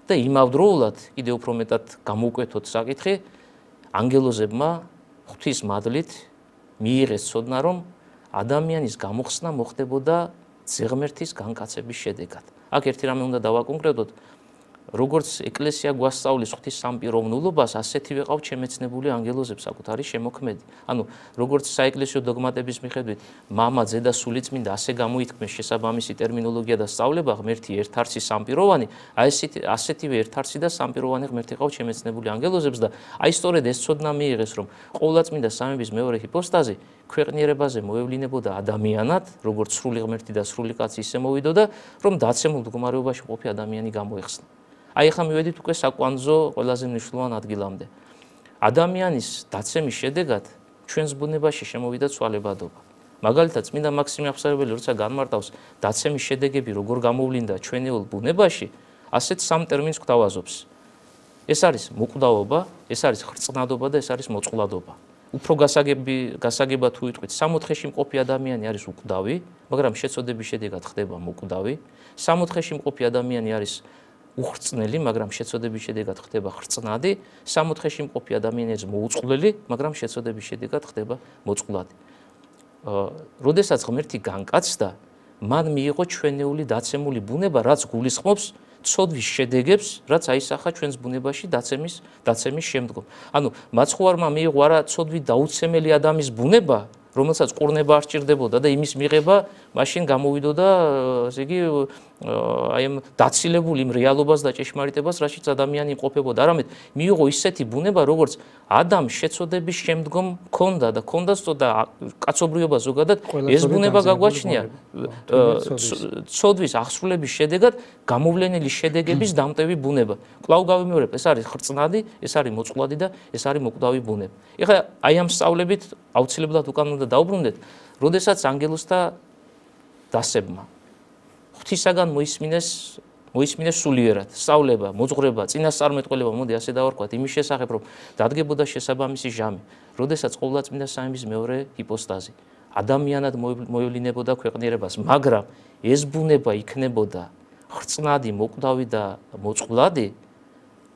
და იმავდროულად კიდევ უფრო მეტად გამოუკვეთოთ საკითხი, ანგელოზებმა ღვთის მადლით მიიღეს ცოდნა, რომ ადამიანის გამოხსნა მოხდებოდა ზღმერთის განკაცების შედეგად. აქ ერთი რამე უნდა დავაკონკრეტოთ, როგორც ეკლესია გვასწავლის ღვთის სამპიროვნულობას, ასეთივე ყავთ შემეცნებული ანგელოზებს საკუთარი შემოქმედი. ანუ როგორც საეკლესიო დოგმატების მიხედვით, მამა, ძე და სულიწმინდა ასე გამოითქმეს შესაბამისი ტერმინოლოგია და სწავლება, ღმერთი ერთარცი სამპიროვანი, ასეთივე ერთარცი და სამპიროვანი ღმერთი ყავთ შემეცნებული ანგელოზებს და აი სწორედ ეს ცოდნა მიიღეს, რომ ყოვლადწმინდა სამების მეორე ჰიპოსტაზი ქვეყნიერებაზე მოევლინებოდა ადამიანად, როგორც სრული ღმერთი და სრული კაცი ისე მოვიდოდა, რომ დაცემულ მდგომარეობაში ყოფი ადამიანი გამოეხსნა. აი ახლა მივედით უკვე საკვანძო ყველაზე მნიშვნელოვან ადგილამდე. ადამიანის დაცემის შედეგად ჩვენს ბუნებაში შემოვიდა ცვალებადობა. მაგალითად, წმინდა მაქსიმე აღსარებელი როცა განმარტავს დაცემის შედეგები როგორ გამოვლინდა ჩვენეულ ბუნებაში, ასეთ სამ ტერმინს გვთავაზობს. ეს არის მოკვდავობა, ეს არის ხრწნადობა და ეს არის მოწყვლადობა. უფრო გასაგებად თუ ვიტყვით, სამოთხეში მყოფი ადამიანი არის უკვდავი, მაგრამ შეწოდების შედეგად ხდება მოკვდავი. სამოთხეში მყოფი ადამიანი არის უხრწნელი, მაგრამ შეწოდების შედეგად ხდება ხრწნადი. სამოთხეში მყოფი ადამიანი არის მოუწყვლელი, მაგრამ შეწოდების შედეგად ხდება მოწყვლადი. როდესაც ღმერთი განკაცდა, მან მიიღო ჩვენეული დაცემული ბუნება, რაც გულისხმობს ცოდვის შედეგებს, რაც აისახა ჩვენს ბუნებაში დაცემის შემდგომ. ანუ მაცხოვარმა მიიღო არა ცოდვით დაუცემელი ადამიანის ბუნება, რომელსაც ყურნება არ სჭირდებოდა და იმის მიღება მაშინ გამოვიდოდა, ესე იგი, აი ამ დაცილებული იმ რეალობას და ჭეშმარიტებას, რაშიც ადამიანი იმყოფებოდა. არამედ მიიღო ისეთი ბუნება, როგორც ადამიანს შეწოდების შემდგომ ჰქონდა და ჰქონდა სწორდა კაცობრიობა ზოგადად ეს ბუნება გაგვაჩნია. ცოდვის აღსრულების შედეგად გამოვლენილი შედეგების დამტევი ბუნება. კვლავ გავიმეორებ, ეს არის ხრწნადი, ეს არის მოწყვლადი და ეს არის მოკვდავი ბუნება. ეხლა აი ამ სწავლებით აუცილებლად უკან უნდა დაუბრუნდეთ, როდესაც ანგელოზთა დასებმა ღვთისაგან მოისმინეს სულიერად სწავლება, მოძღვრება, წინასწარმეტყველება, მოდი ასე დავარქვათ, იმის შესახებ, რომ დადგებოდა შესაბამისი ჟამი, როდესაც ყოვლადწმინდა სამების მეორე ჰიპოსტაზი ადამიანად მოევლინებოდა ქვეყნიერებას, მაგრამ ეს ბუნება იქნებოდა ხრწნადი, მოკვდავი და მოწყვლადი,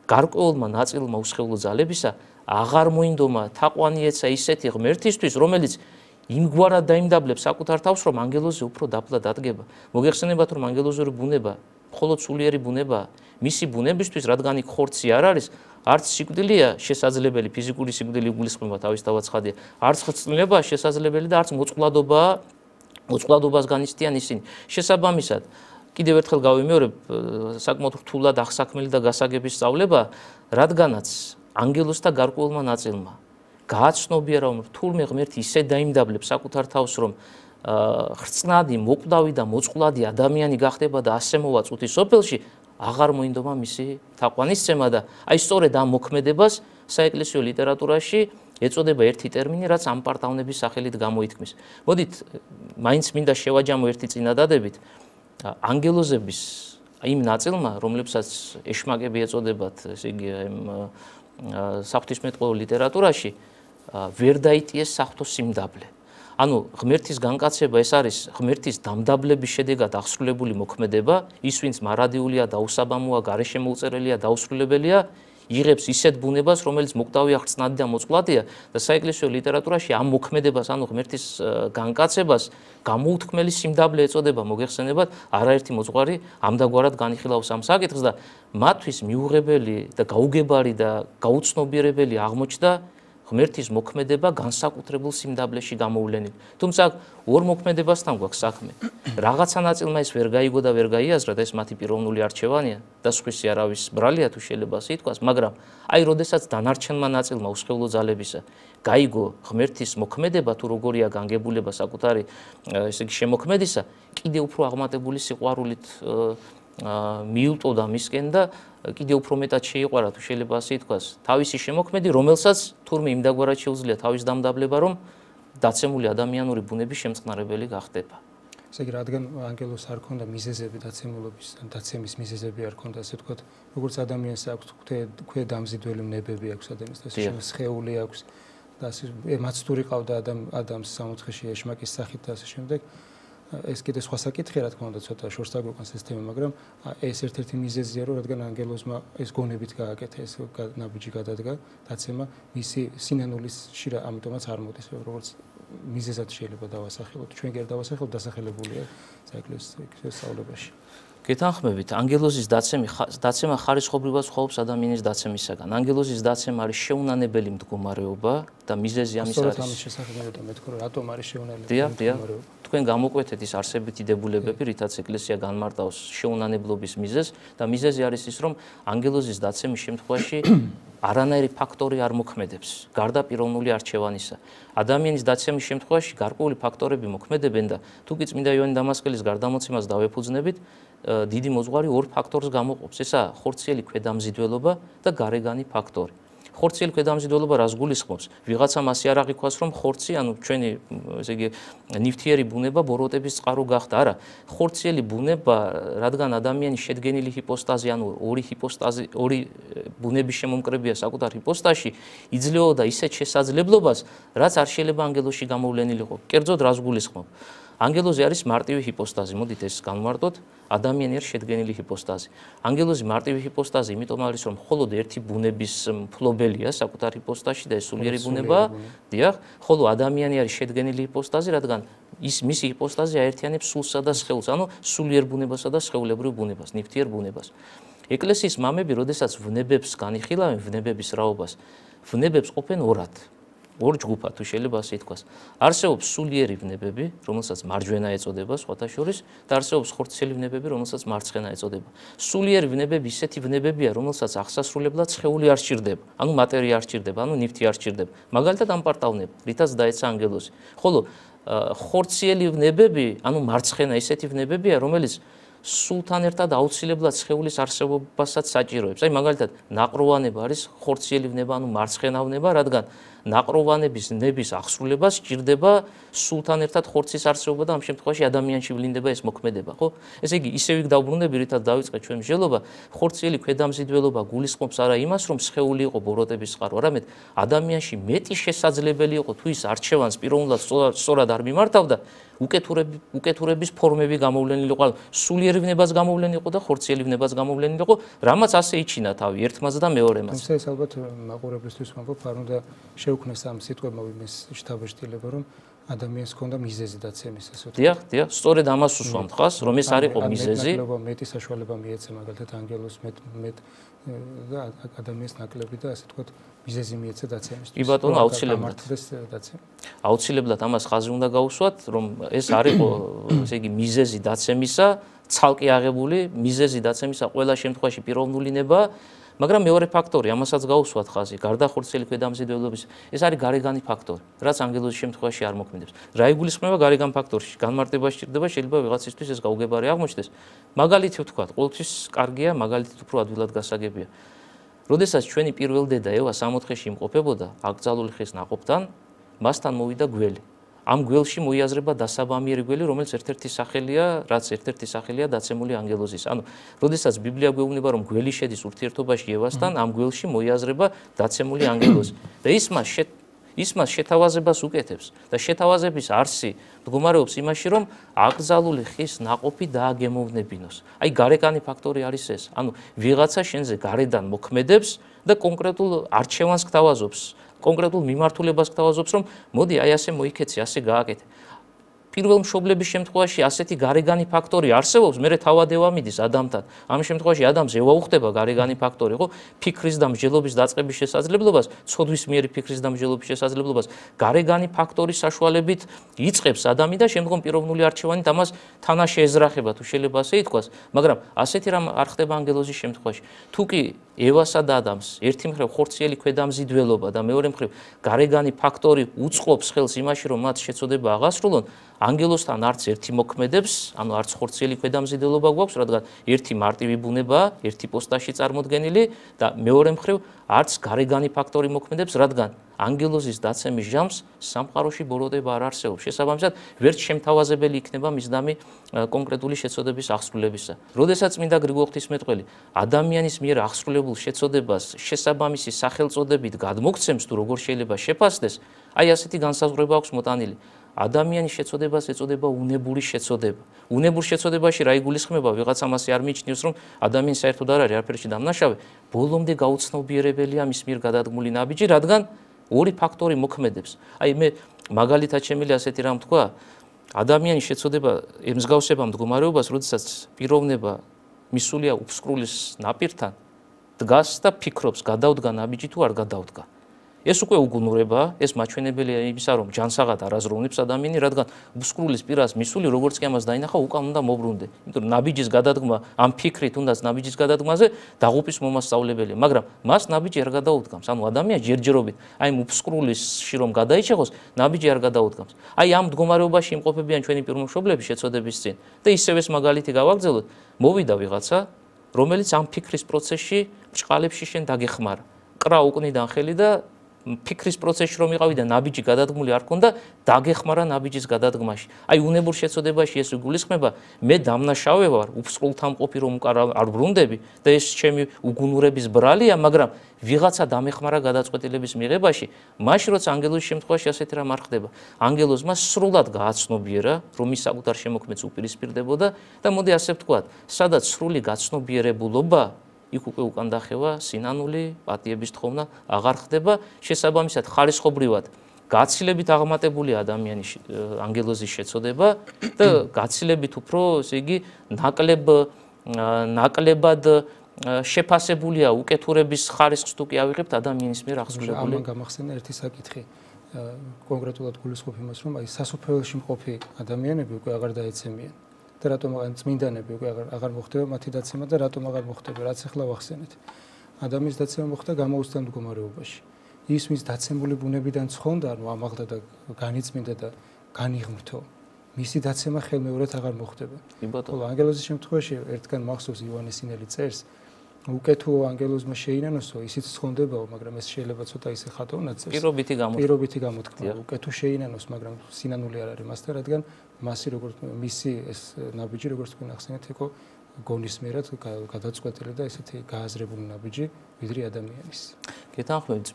გარკვეულმა ნაწილმა უსხეულო ძალებისა აღარ მოინდომა თაყვანი ეცა ისეთი ღმერთისთვის, რომელიც იმგვარად დაიმდაბლებს საკუთარ თავს, რომ ანგელოზი უფრო დაბლა დადგება. მოგეხსენებათ, რომ ანგელოზური ბუნება მხოლოდ სულიერი ბუნებაა. მისი ბუნებისთვის, რადგან იქ ხორცი არ არის, არც სიკვდილია შესაძლებელი, ფიზიკური სიკვდილი იგულისხმება თავისთავად ცხადია, არც ხრწნილებაა შესაძლებელი და არც მოწყვლადობას განიცდიან ისინი. შესაბამისად, კიდევ ერთხელ გავიმეორებ, საკმაოდ რთულად აღსაქმელი და გასაგების სწავლება, რადგანაც ანგელოზთა გარკვეულმა ნაწილმა გააცნობია, რომ რთულმე ღმერთი ისე დაიმდაბლებს საკუთარ თავს, რომ ხრწნადი, მოკვდავი და მოწყვლადი ადამიანი გახდება და ასე მოვა წუთის სოფელში, აღარ მოინდომა მისი თაყვანისცემა და აი სწორედ ამ მოქმედებას საეკლესიო ლიტერატურაში ეწოდება ერთი ტერმინი, რაც ამპარტავნების სახელით გამოითქმის. მოდით, მაინც მინდა შევაჯამო ერთი წინადადებით, ანგელოზების იმ ნაწილმა, რომლებსაც ეშმაკები ეწოდებათ, ესე იგი, საღვთისმეტყველო ლიტერატურაში ვერ დაიტიეს საღვთო სიმდაბლე. ანუ ღმერთის განკაცება ეს არის ღმერთის დამდაბლების შედეგად აღსრულებული მოქმედება, ის ვინც მარადიულია, დაუსაბამოა, გარეშე მოუწერელია, დაუსრულებელია, იღებს ისეთ ბუნებას, რომელიც მოკვდავია, ხრწნადი და მოწყვლადია და საეკლესიო ლიტერატურაში ამ მოქმედებას, ანუ ღმერთის განკაცებას გამოუთქმელი სიმდაბლე ეწოდება, მოგეხსენებათ, არაერთი მოძღვარი ამდაგვარად განიხილავს ამ საკითხს და მათთვის მიუღებელი და გაუგებარი და გაუცნობიერებელი აღმოჩნდა ღმერთის მოქმედება განსაკუთრებულ სიმდაბლეში გამოვლენილი. თუმცა ორ მოქმედებასთან გვაქვს საქმე. რაღაცა ნაწილმა ეს ვერ გაიგო და ვერ გაიაზრა და ეს მათი პიროვნული არჩევანია და სხვისი არავის ბრალია თუ შეიძლება ასე ითქვას, მაგრამ აი როდესაც დანარჩენმა ნაწილმა უსხეულო ძალებისა გაიგო ღმერთის მოქმედება თუ როგორია განგებულება საკუთარი ესე იგი შემოქმედისა, კიდევ უფრო აღმატებული სიყვარულით მიუტოდა მისკენ და კიდევ უფრო მეტად შეიყვარა თუ შეიძლება ასე ითქვას თავისი შემოქმედი, რომელსაც თურმე იმდაგვარად შეუძლია თავის დამდაბლება, რომ დაცემული ადამიანური ბუნების შემწყნარებელი გახდება. ესე იგი, რადგან ანგელოზს არ ქონდა მიზეზები დაცემულობის, დაცემის მიზეზები არ ქონდა, ასე ვთქვათ, როგორც ადამიანს აქვს ქვედამზიდველი ნებები აქვს ადამიანს, სხეული აქვს და ასე მაცდური ყავდა ადამიანს სამოთხეში ეშმაკის სახით და ასე შემდეგ. ეს კიდე სხვა საკითხია, რა თქმა უნდა, ცოტა შორს დაგვიყვანს ეს თემა, მაგრამ ეს ერთ-ერთი მიზეზია, რომ რადგან ანგელოზმა ეს გონებით გააკეთა, ეს ნაბიჯი გადადგა, დაცემა, მისი სინანულის შირა ამიტომაც არ მოდის, როგორც მიზეზად შეიძლება დავასახელოთ. ჩვენ კი არ დავასახელოთ, დასახელებულია საეკლესიო სწავლებაში. გეთანხმებით, ანგელოზის დაცემა ხარისხობრივად სხვაობს ადამიანის დაცემისაგან. ანგელოზის დაცემა არის შეუნანებელი მდგომარეობა და მიზეზი ამის არის. სწორედ ამის შესახებ მეთქო, რომ რატომ არის შეუნანებელი მდგომარეობა. თქვენ გამოკვეთეთ ის არსებითი დებულებები, რითაც ეკლესია განმარტავს შეუნანებლობის მიზეზს და მიზეზი არის ის, რომ ანგელოზის დაცემის შემთხვევაში არანაირი ფაქტორი არ მოქმედებს, გარდა პიროვნული არჩევანისა. ადამიანის დაცემის შემთხვევაში გარკვეული ფაქტორები მოქმედებენ და თუკი წმინდა იოანე დამასკელის გარდამოცემას დავეფუძნებით, დიდი მოძღვარი ორ ფაქტორს გამოყოფს. ესაა ხორციელი ქვედამზიდველობა და გარეგანი ფაქტორი. ხორციელი ქვედამზიდველობა რას გულისხმობს? ვიღაცამ ასე არ აღიქვას, რომ ხორცი, ჩვენი, ესე იგი, ნივთიერი ბუნება ბოროტების წყარო გახდა. არა, ხორციელი ბუნება, რადგან ადამიანის შედგენილი ჰიპოსტაზი, ორი ბუნების შემომკრებია საკუთარ ჰიპოსტაზში, იძლეოდა ისეთ შესაძლებლობას, რაც არ შეიძლება ანგელოზში გამოვლენილიყო. კერძოდ რას გულისხმობ? ანგელოზი არის მარტივი ჰიპოსტაზი, მოდით ეს განვარტოთ, ადამიანი არის შედგენილი ჰიპოსტაზი. ანგელოზი მარტივი ჰიპოსტაზი, იმიტომ არის, რომ მხოლოდ ერთი ბუნების მფლობელია საკუთარ ჰიპოსტაზში და ეს სულიერი ბუნებაა, დიახ, ხოლო ადამიანი არის შედგენილი ჰიპოსტაზი, რადგან მისი ჰიპოსტაზი აერთიანებს სულსა და სხეულს, სულიერ ბუნებასა და სხეულებრივ ბუნებას, ნივთიერ ბუნებას. ეკლესიის მამები, როდესაც ვნებებს განიხილავენ, ვნებების რაობას, ვნებებს ყოფენ ორად. ორ ჯგუფად თუ შეიძლება ასე ითქვას. არსებობს სულიერი ვნებები, რომელსაც მარჯვენა ეწოდება სხვათა შორის და არსებობს ხორციელი ვნებები, რომელსაც მარცხენა ეწოდება. სულიერი ვნებები ისეთი ვნებებია, რომელსაც აღსასრულებლად სხეული არ სჭირდება, მატერია არ სჭირდება, ნივთი არ სჭირდება. მაგალითად ამპარტავნება, რითაც დაეცა ანგელოზი. ხოლო ხორციელი ვნებები, მარცხენა ისეთი ვნებებია, რომელიც სულთან ერთად აუცილებლად სხეულის არსებობასაც საჭიროებს. მაგალითად, ნაყროვანება არის ხორციელი ვნება, მარცხენა ვნება, რადგან ნაყროვანების ნების აღსრულება სჭირდება სულთან ერთად ხორცის არსებობა და ამ შემთხვევაში ადამიანში ვლინდება ეს მოქმედება, ხო? ესე იგი, ისევ იქ დავბრუნდები, რითაც დავიწყე ჩვენ მსჯელობა, ხორციელი ქვედამზიდველობა გულისხმობს არა იმას, რომ სხეული იყო ბოროტების წყარო, არამედ ადამიანში მეტი შესაძლებელი იყო თუ ის არჩევანს პიროვნულად სწორად არ მიმართავდა, უკეთურების ფორმები გამოვლენილიყო, სულიერი ვნებას გამოვლენილიყო და ხორციელი ვნებას გამოვლენილიყო, რამაც ასე იჩინა თავი ერთმაც და მეორემაც. თუმცა ეს ალბათ მაყურებლისთვის ვამბობ, არ უნდა შეუქმნეს ამ სიტყვებმა იმის შთაბეჭდილება, რომ ადამიანს ჰქონდა მიზეზი დაცემის, ასე ვთქვათ. დიახ, სწორედ ამას უსვამთ ხას, რომ ეს არ იყო მიზეზი. მეტი საშუალება მიეცა მაგალითად ანგელოზს მეტ და ადამიანს ნაკლები და ასე ვთქვათ, მიზეზი მიეცა დაცემისთვის. კი ბატონო, აუცილებლად. აუცილებლად ამას ხაზი უნდა გაუსვათ, რომ ეს არ იყო, ესე იგი, მიზეზი დაცემისა, ცალკე აღებული მიზეზი დაცემისა ყველა შემთხვევაში პიროვნული ნება. მაგრამ მეორე ფაქტორი, ამასაც გაუსვათ ხაზი, გარდა ხორციელი ქვედამზიდველობის, ეს არის გარეგანი ფაქტორი, რაც ანგელოზის შემთხვევაში არ მოქმედებს. რა იგულისხმება გარეგან ფაქტორში? განმარტება სჭირდება, შეიძლება ვიღაცისთვის ეს გაუგებარი აღმოჩნდეს. მაგალითი ვთქვათ, ყოველთვის კარგია, მაგალითით უფრო ადვილად გასაგებია. როდესაც ჩვენი პირველ დედა ევა 60-ში იმყოფებოდა აკრძალული ხის ნაყოფთან, მასთან მოვიდა გველი. ამ გველში მოიაზრება დასაბამიერი გველი, რომელიც ერთ-ერთი სახელია დაცემული ანგელოზის. როდესაც ბიბლია გვეუბნება, რომ გველი შედის ურთიერთობაში ევასთან, ამ გველში მოიაზრება დაცემული ანგელოზი. და ის მას შეთავაზებას უკეთებს და შეთავაზების არსი მდგომარეობს იმაში, რომ აკრძალული ხის ნაყოფი დააგემოვნებინოს. გარეკანი ფაქტორი არის ეს. ვიღაცა შენზე გარედან მოქმედებს და კონკრეტულ არჩევანს გთავაზობს. კონკრეტულ მიმართულებას გთავაზობს, რომ მოდი ასე მოიქეცი, ასე გააკეთე. პირველ მშობლების შემთხვევაში ასეთი გარეგანი ფაქტორი არსებობს, მერე თავად ევა მიდის ადამიანთან. ამ შემთხვევაში ადამიანს ევა უხდება გარეგანი ფაქტორი, ხო? ფიქრის და მსჯელობის დაწყების შესაძლებლობას, ცოდვის მიერი ფიქრის და მსჯელობის შესაძლებლობას გარეგანი ფაქტორის საშუალებით იწყებს ადამი და შემდგომ პიროვნული არჩევანით ამას თანაშე ეძრახება, თუ შეიძლება ასე ითქვას, მაგრამ ასეთი რამ არ ხდება ანგელოზის შემთხვევაში. თუ კი ევასა და ადამიანს ერთი მხრივ ხორციელი ქვედამზიდველობა და მეორე მხრივ გარეგანი ფაქტორი უწყობს ხელს იმაში, რომ მათ შეწოდება აღასრულონ, ანგელოზთან არც ერთი მოქმედებს, არც ხორციელი ქვედამზიდველობა გვაქვს, რადგან ერთი მარტივი ბუნებაა, ერთი პოსტაში წარმოდგენილი და მეორე მხრივ არც გარეგანი ფაქტორი მოქმედებს, რადგან ანგელოზის დაცემის ჟამს სამყაროში ბოროტება არ არსებობს. შესაბამისად, ვერც შემთავაზებელი იქნება მისდამი კონკრეტული შეწოდების აღსრულებისა. როდესაც წმინდა გრიგოლ ღვთისმეტყველი ადამიანის მიერ აღსრულებულ შეწოდებას შესაბამისი სახელწოდებით გადმოგცემს, თუ როგორ შეიძლება შეფასდეს, ასეთი განსაზღვრება აქვს მოტანილი. ადამიანის შეწოდებას ეწოდება უნებური შეწოდება. უნებურ შეწოდებაში რა იგულისხმება? ვიღაცა მასე არ მიიჩნევს, რომ ადამიანი საერთოდ არ არის არაფერში დამნაშავე, ბოლომდე გაუცნობიერებელია მის მიერ გადადგმული ნაბიჯი, რადგან ორი ფაქტორი მოქმედებს. მე მაგალითად შემიძლია ასეთი რამ თქვა, ადამიანის შეწოდება ემსგავსება მდგომარეობას, როდესაც პიროვნება მისულია უფსკრულის ნაპირთან, დგას და ფიქრობს, გადავდგა ნაბიჯი თუ არ გადავდგა. ეს უკვე უგუნურებაა, ეს მაჩვენებელია იმისა, რომ ჯანსაღად არაზროვნებს ადამიანი, რადგან უფსკრულის პირას მისული, როგორც კი ამას დაინახა, უკან უნდა მოbrunde. იმიტომ რომ ნაბიჯის გადადგმა, ამ ფიქრით უნდაც ნაბიჯის გადადგმაზე დაღუპის მომასწავლებელია, მაგრამ მას ნაბიჯი არ გადაუდგამს. ადამიანს ჯერჯერობით, იმ უფსკრულისში რომ გადაიჭეხოს, ნაბიჯი არ გადაუდგამს. ამ მდგომარეობაში იმყოფებიან ჩვენი პირმშობლები შეწოდების წინ და ისევ ეს მაგალითი გავაგრძელოთ, მოვიდა ვიღაცა, რომელიც ამ ფიქრის პროცესში ბრჭყალებში შენ დაგეხმარა. კრა უკნიდან ხელი და ფიქრის პროცესში რომ იყავი და ნაბიჯი გადადგმული არ ქონდა, დაგეხმარა ნაბიჯის გადადგმაში. აი უნებურ შეცოდებაში ეს გულისხმება, მე დამნაშავე ვარ, უსრულთამყოფი რომ არ ბრუნდები და ეს ჩემი უგუნურების ბრალია, მაგრამ ვიღაცა დამეხმარა გადაწყვეტილების მიღებაში, მაშინ როცა ანგელოზის შემთხვევაში ასეთი რამ არ ხდება. ანგელოზმა სრულად გააცნობიერა, რომ ის საკუთარ შემოქმედს უპირისპირდებოდა და მოდი ასე ვთქვათ, სადაც სრული გაცნობიერებულობა იქ უკვე უკან დახევა სინანული, პატიების თხოვნა აღარ ხდება, შესაბამისად ხარისხობრივად გაცილებით აღმატებული ადამიანის ანგელოზის შეცოდება და გაცილებით უფრო, ესე იგი, ნაკლებად შეფასებულია უკეთურების ხარისხს თუ კი ავიღებთ ადამიანის მიერ აღსრულებული. ამან გამახსენა ერთი საკითხი. კონკრეტულად გულისხმობ იმას, რომ აი სასופველში მყოფი ადამიანები უკვე აღარ დაეცემიან. და რატომ წმინდანები უკვე აღარ მოხდება მათი დაცემა და რატომ აღარ მოხდება, რაც ახლა ვახსენეთ. ადამიანის დაცემა მოხდა გამოუცდელ მდგომარეობაში. ის ვის დაცემული ბუნებიდან ცხონდა, ანუ ამაღლდა და განიწმინდა და განიღმრთო, მისი დაცემა ხელმეორედ აღარ მოხდება. ხოლო ანგელოზის შემთხვევაში ერთგან მახსოვს იოანე სინელი წერს, უკეთო ანგელოზმა შეინანოსო, ისიც ცხონდებაო, მაგრამ ეს შეიძლება ცოტა ისე ხატოვნად წერს. პირობითი გამოთქმა. უკეთო შეინანოს, მაგრამ სინანული არ არის მასთან, რადგან მისი ეს ნაბიჯი, როგორც თქვენ ახსენეთ, იყო გონისმიერად გადაწყვეტილი და ესეთი გააზრებული ნაბიჯი, ვიდრე ადამიანის. გეთანხმებით,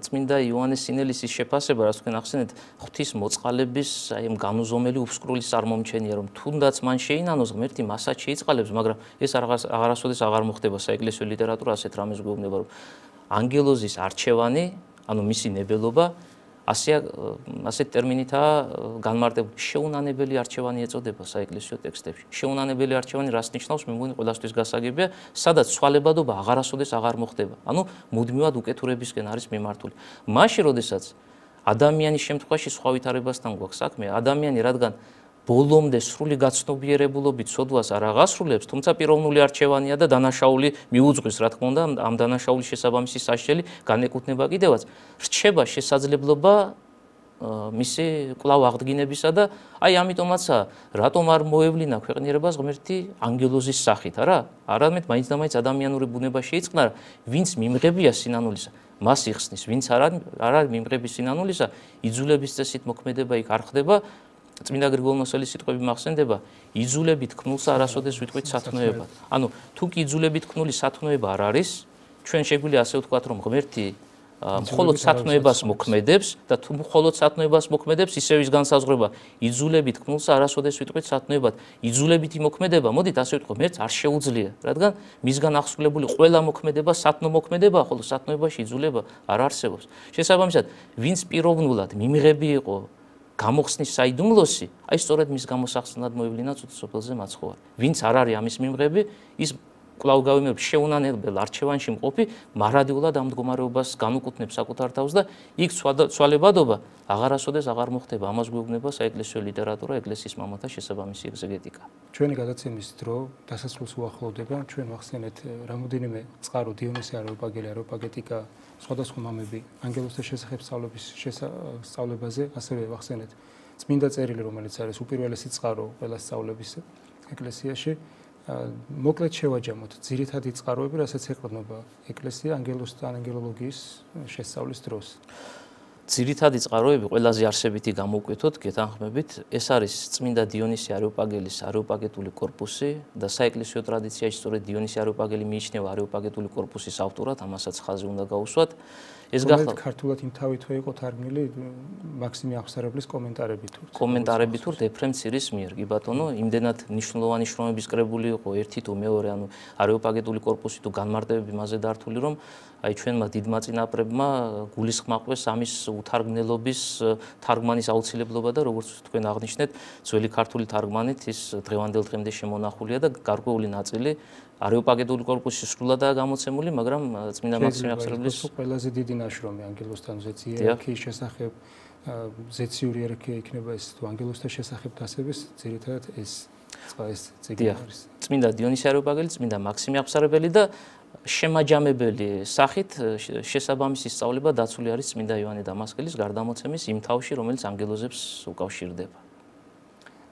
წმინდა იოანეს სინელის ის შეფასება, რაც თქვენ ახსენეთ, ღვთის მოწყალების, აი ამ განუზომელი უფსკრული წარმომჩენია, რომ თუნდაც მან შეინანოს ღმერთი მასაც შეიწყალებს, მაგრამ ეს აღარასოდეს აღარ მოხდება საეკლესიო ლიტერატურა ასეთ რამეს გვეუბნება, რომ ანგელოზის არჩევანი, ანუ მისი ნებელობა ასეთ ტერმინითაა განმარტებული. შეუნანებელი არჩევანი ეწოდება საეკლესიო ტექსტებში. შეუნანებელი არჩევანი რას ნიშნავს? მე მგონი ყველასთვის გასაგებია, სადაც ცვალებადობა აღარასოდეს აღარ მოხდება. ანუ მუდმივად უკეთურებისკენ არის მიმართული. მაშინ, როდესაც ადამიანის შემთხვევაში სხვა ვითარებასთან გვაქვს საქმე, ადამიანი რადგან ბოლომდე სრული გაცნობიერებულობით სოდვას არ აღასრულებს, თუმცა პიროვნული არჩევანია და დანაშაული მიუძღვის, რა თქმა უნდა, ამ დანაშაულის შესაბამისი სასჯელი განეკუთვნება კიდევაც. რჩება შესაძლებლობა მისი კვლავ აღდგინებისა და აი ამიტომაცა რატომ არ მოევლინა ქვეყნიერებას ღმერთი ანგელოზის სახით, არა? არამედ მაინც და მაინც ადამიანური ბუნება შეიწყნა, ვინც მიმღებია სინანულისა, მას იხსნის, ვინც არ არის მიმღები სინანულისა, იძულების წესით მოქმედება იქ არ ხდება. წმინდა გრიგოლ მოსელის სიტყვები მახსენდება, იძულებით ქნულსა არასოდეს ვიტყვით სათნოებად. ანუ თუ კი იძულებით ქნული სათნოება არ არის, ჩვენ შეგვიძლია ასე ვთქვათ, რომ ღმერთი მხოლოდ სათნოებას მოქმედებს და თუ მხოლოდ სათნოებას მოქმედებს, ისევ ის განსაზღვრება, იძულებით ქნულსა არასოდეს ვიტყვით სათნოებად. იძულებითი მოქმედება, მოდით ასე ვთქვათ, ღმერთს არ შეუძლია, რადგან მისგან აღსრულებული ყველა მოქმედება სათნო მოქმედებაა, ხოლო სათნოებაში იძულება არ არსებობს. შესაბამისად, ვინც პიროვნულად მიმღები იყო გამოხსნის საიდუმლოსი, აი სწორედ მის გამოსახსნად მოევლინა სოფელზე მაცხოვარ. ვინც არ არის ამის მიმღები, ის კვლავ გავიმეორებ შეუნანებელ არჩევანში მყოფი, მარადიულად ამ მდგომარეობას განუკუთვნებს საკუთარ თავს და იქ ცვალებადობა აღარასოდეს აღარ მოხდება. ამას გვეუბნება საეკლესიო ლიტერატურა, ეკლესიის მამათა შესაბამისი ეგზეგეტიკა. ჩვენი გადაცემის დრო დასასრულს უახლოვდება. ჩვენ ვახსენეთ რამოდენიმე წყარო დიონისე არეოპაგეტიკა, სხვადასხვა მამები ანგელოზთა შესახებ სწავლებაზე, ასევე ვახსენეთ წმინდა წერილი, რომელიც არის უპირველესი წყარო ყველა სწავლების ეკლესიაში. მოკლედ შევაჯამოთ ძირითადი წყაროები, რასაც ეყრდნობა ეკლესია ანგელოზთა ანგელოლოგიის შესწავლის დროს. ძირითადი წყაროები ყველაზე არსებითი გამოვკვეთოთ, გეთანხმებით, ეს არის წმინდა დიონისე არეოპაგელის არეოპაგეტული კორპუსი და საეკლესიო ტრადიციაში სწორედ დიონისე არეოპაგელი მიიჩნევა არეოპაგეტული კორპუსის ავტორად, ამასაც ხაზი უნდა გაუსვათ. ეს გახლავთ ქართულად იმ თავითვე იყო თარგმნილი მაქსიმე აღსარებლის კომენტარებით თუ ეფრემ ცირის მიერ, კი ბატონო, იმდენად მნიშვნელოვანი შრომების კრებული იყო ერთი თუ მეორე, ანუ არეოპაგეტული კორპუსი თუ განმარტებები მასზე დართული, რომ აი ჩვენმა დიდმა წინაპრებმა გულისხმა ყვეს ამის უთარგმნელობის თარგმანის აუცილებლობა და როგორც თქვენ აღნიშნეთ, ძველი ქართული თარგმანით ის დღევანდელ დღემდე შემონახულია და გარკვეული ნაწილი არეოპაგეტული კორპუსი სრულადაა გამოცემული, მაგრამ წმინდა მაქსიმე აღსარებლის ყველაზე დიდი ნაშრომი ანგელოზთან ზეციერქიის შესახებ, ზეციური ერქია იქნება ეს თუ ანგელოზთა შესახებ დასების ძირითადად ეს წიგნი არის. წმინდა დიონისე არეოპაგელი, წმინდა მაქსიმე აღსარებელი და შემაჯამებელი სახით შესაბამისი სწავლება დაცული არის წმინდა იოანე დამასკელის გარდამოცემის იმ თავში, რომელიც ანგელოზებს უკავშირდება.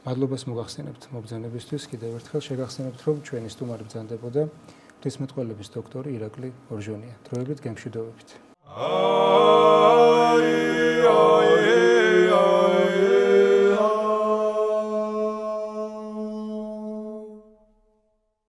მადლობას მოგახსენებთ მობრძანებისთვის, კიდევ ერთხელ შეგახსენებთ, რომ ჩვენი სტუმარი ბრძანდებოდა ღვთისმეტყველების დოქტორი ირაკლი ორჟონია. დროებით გემშვიდობებით.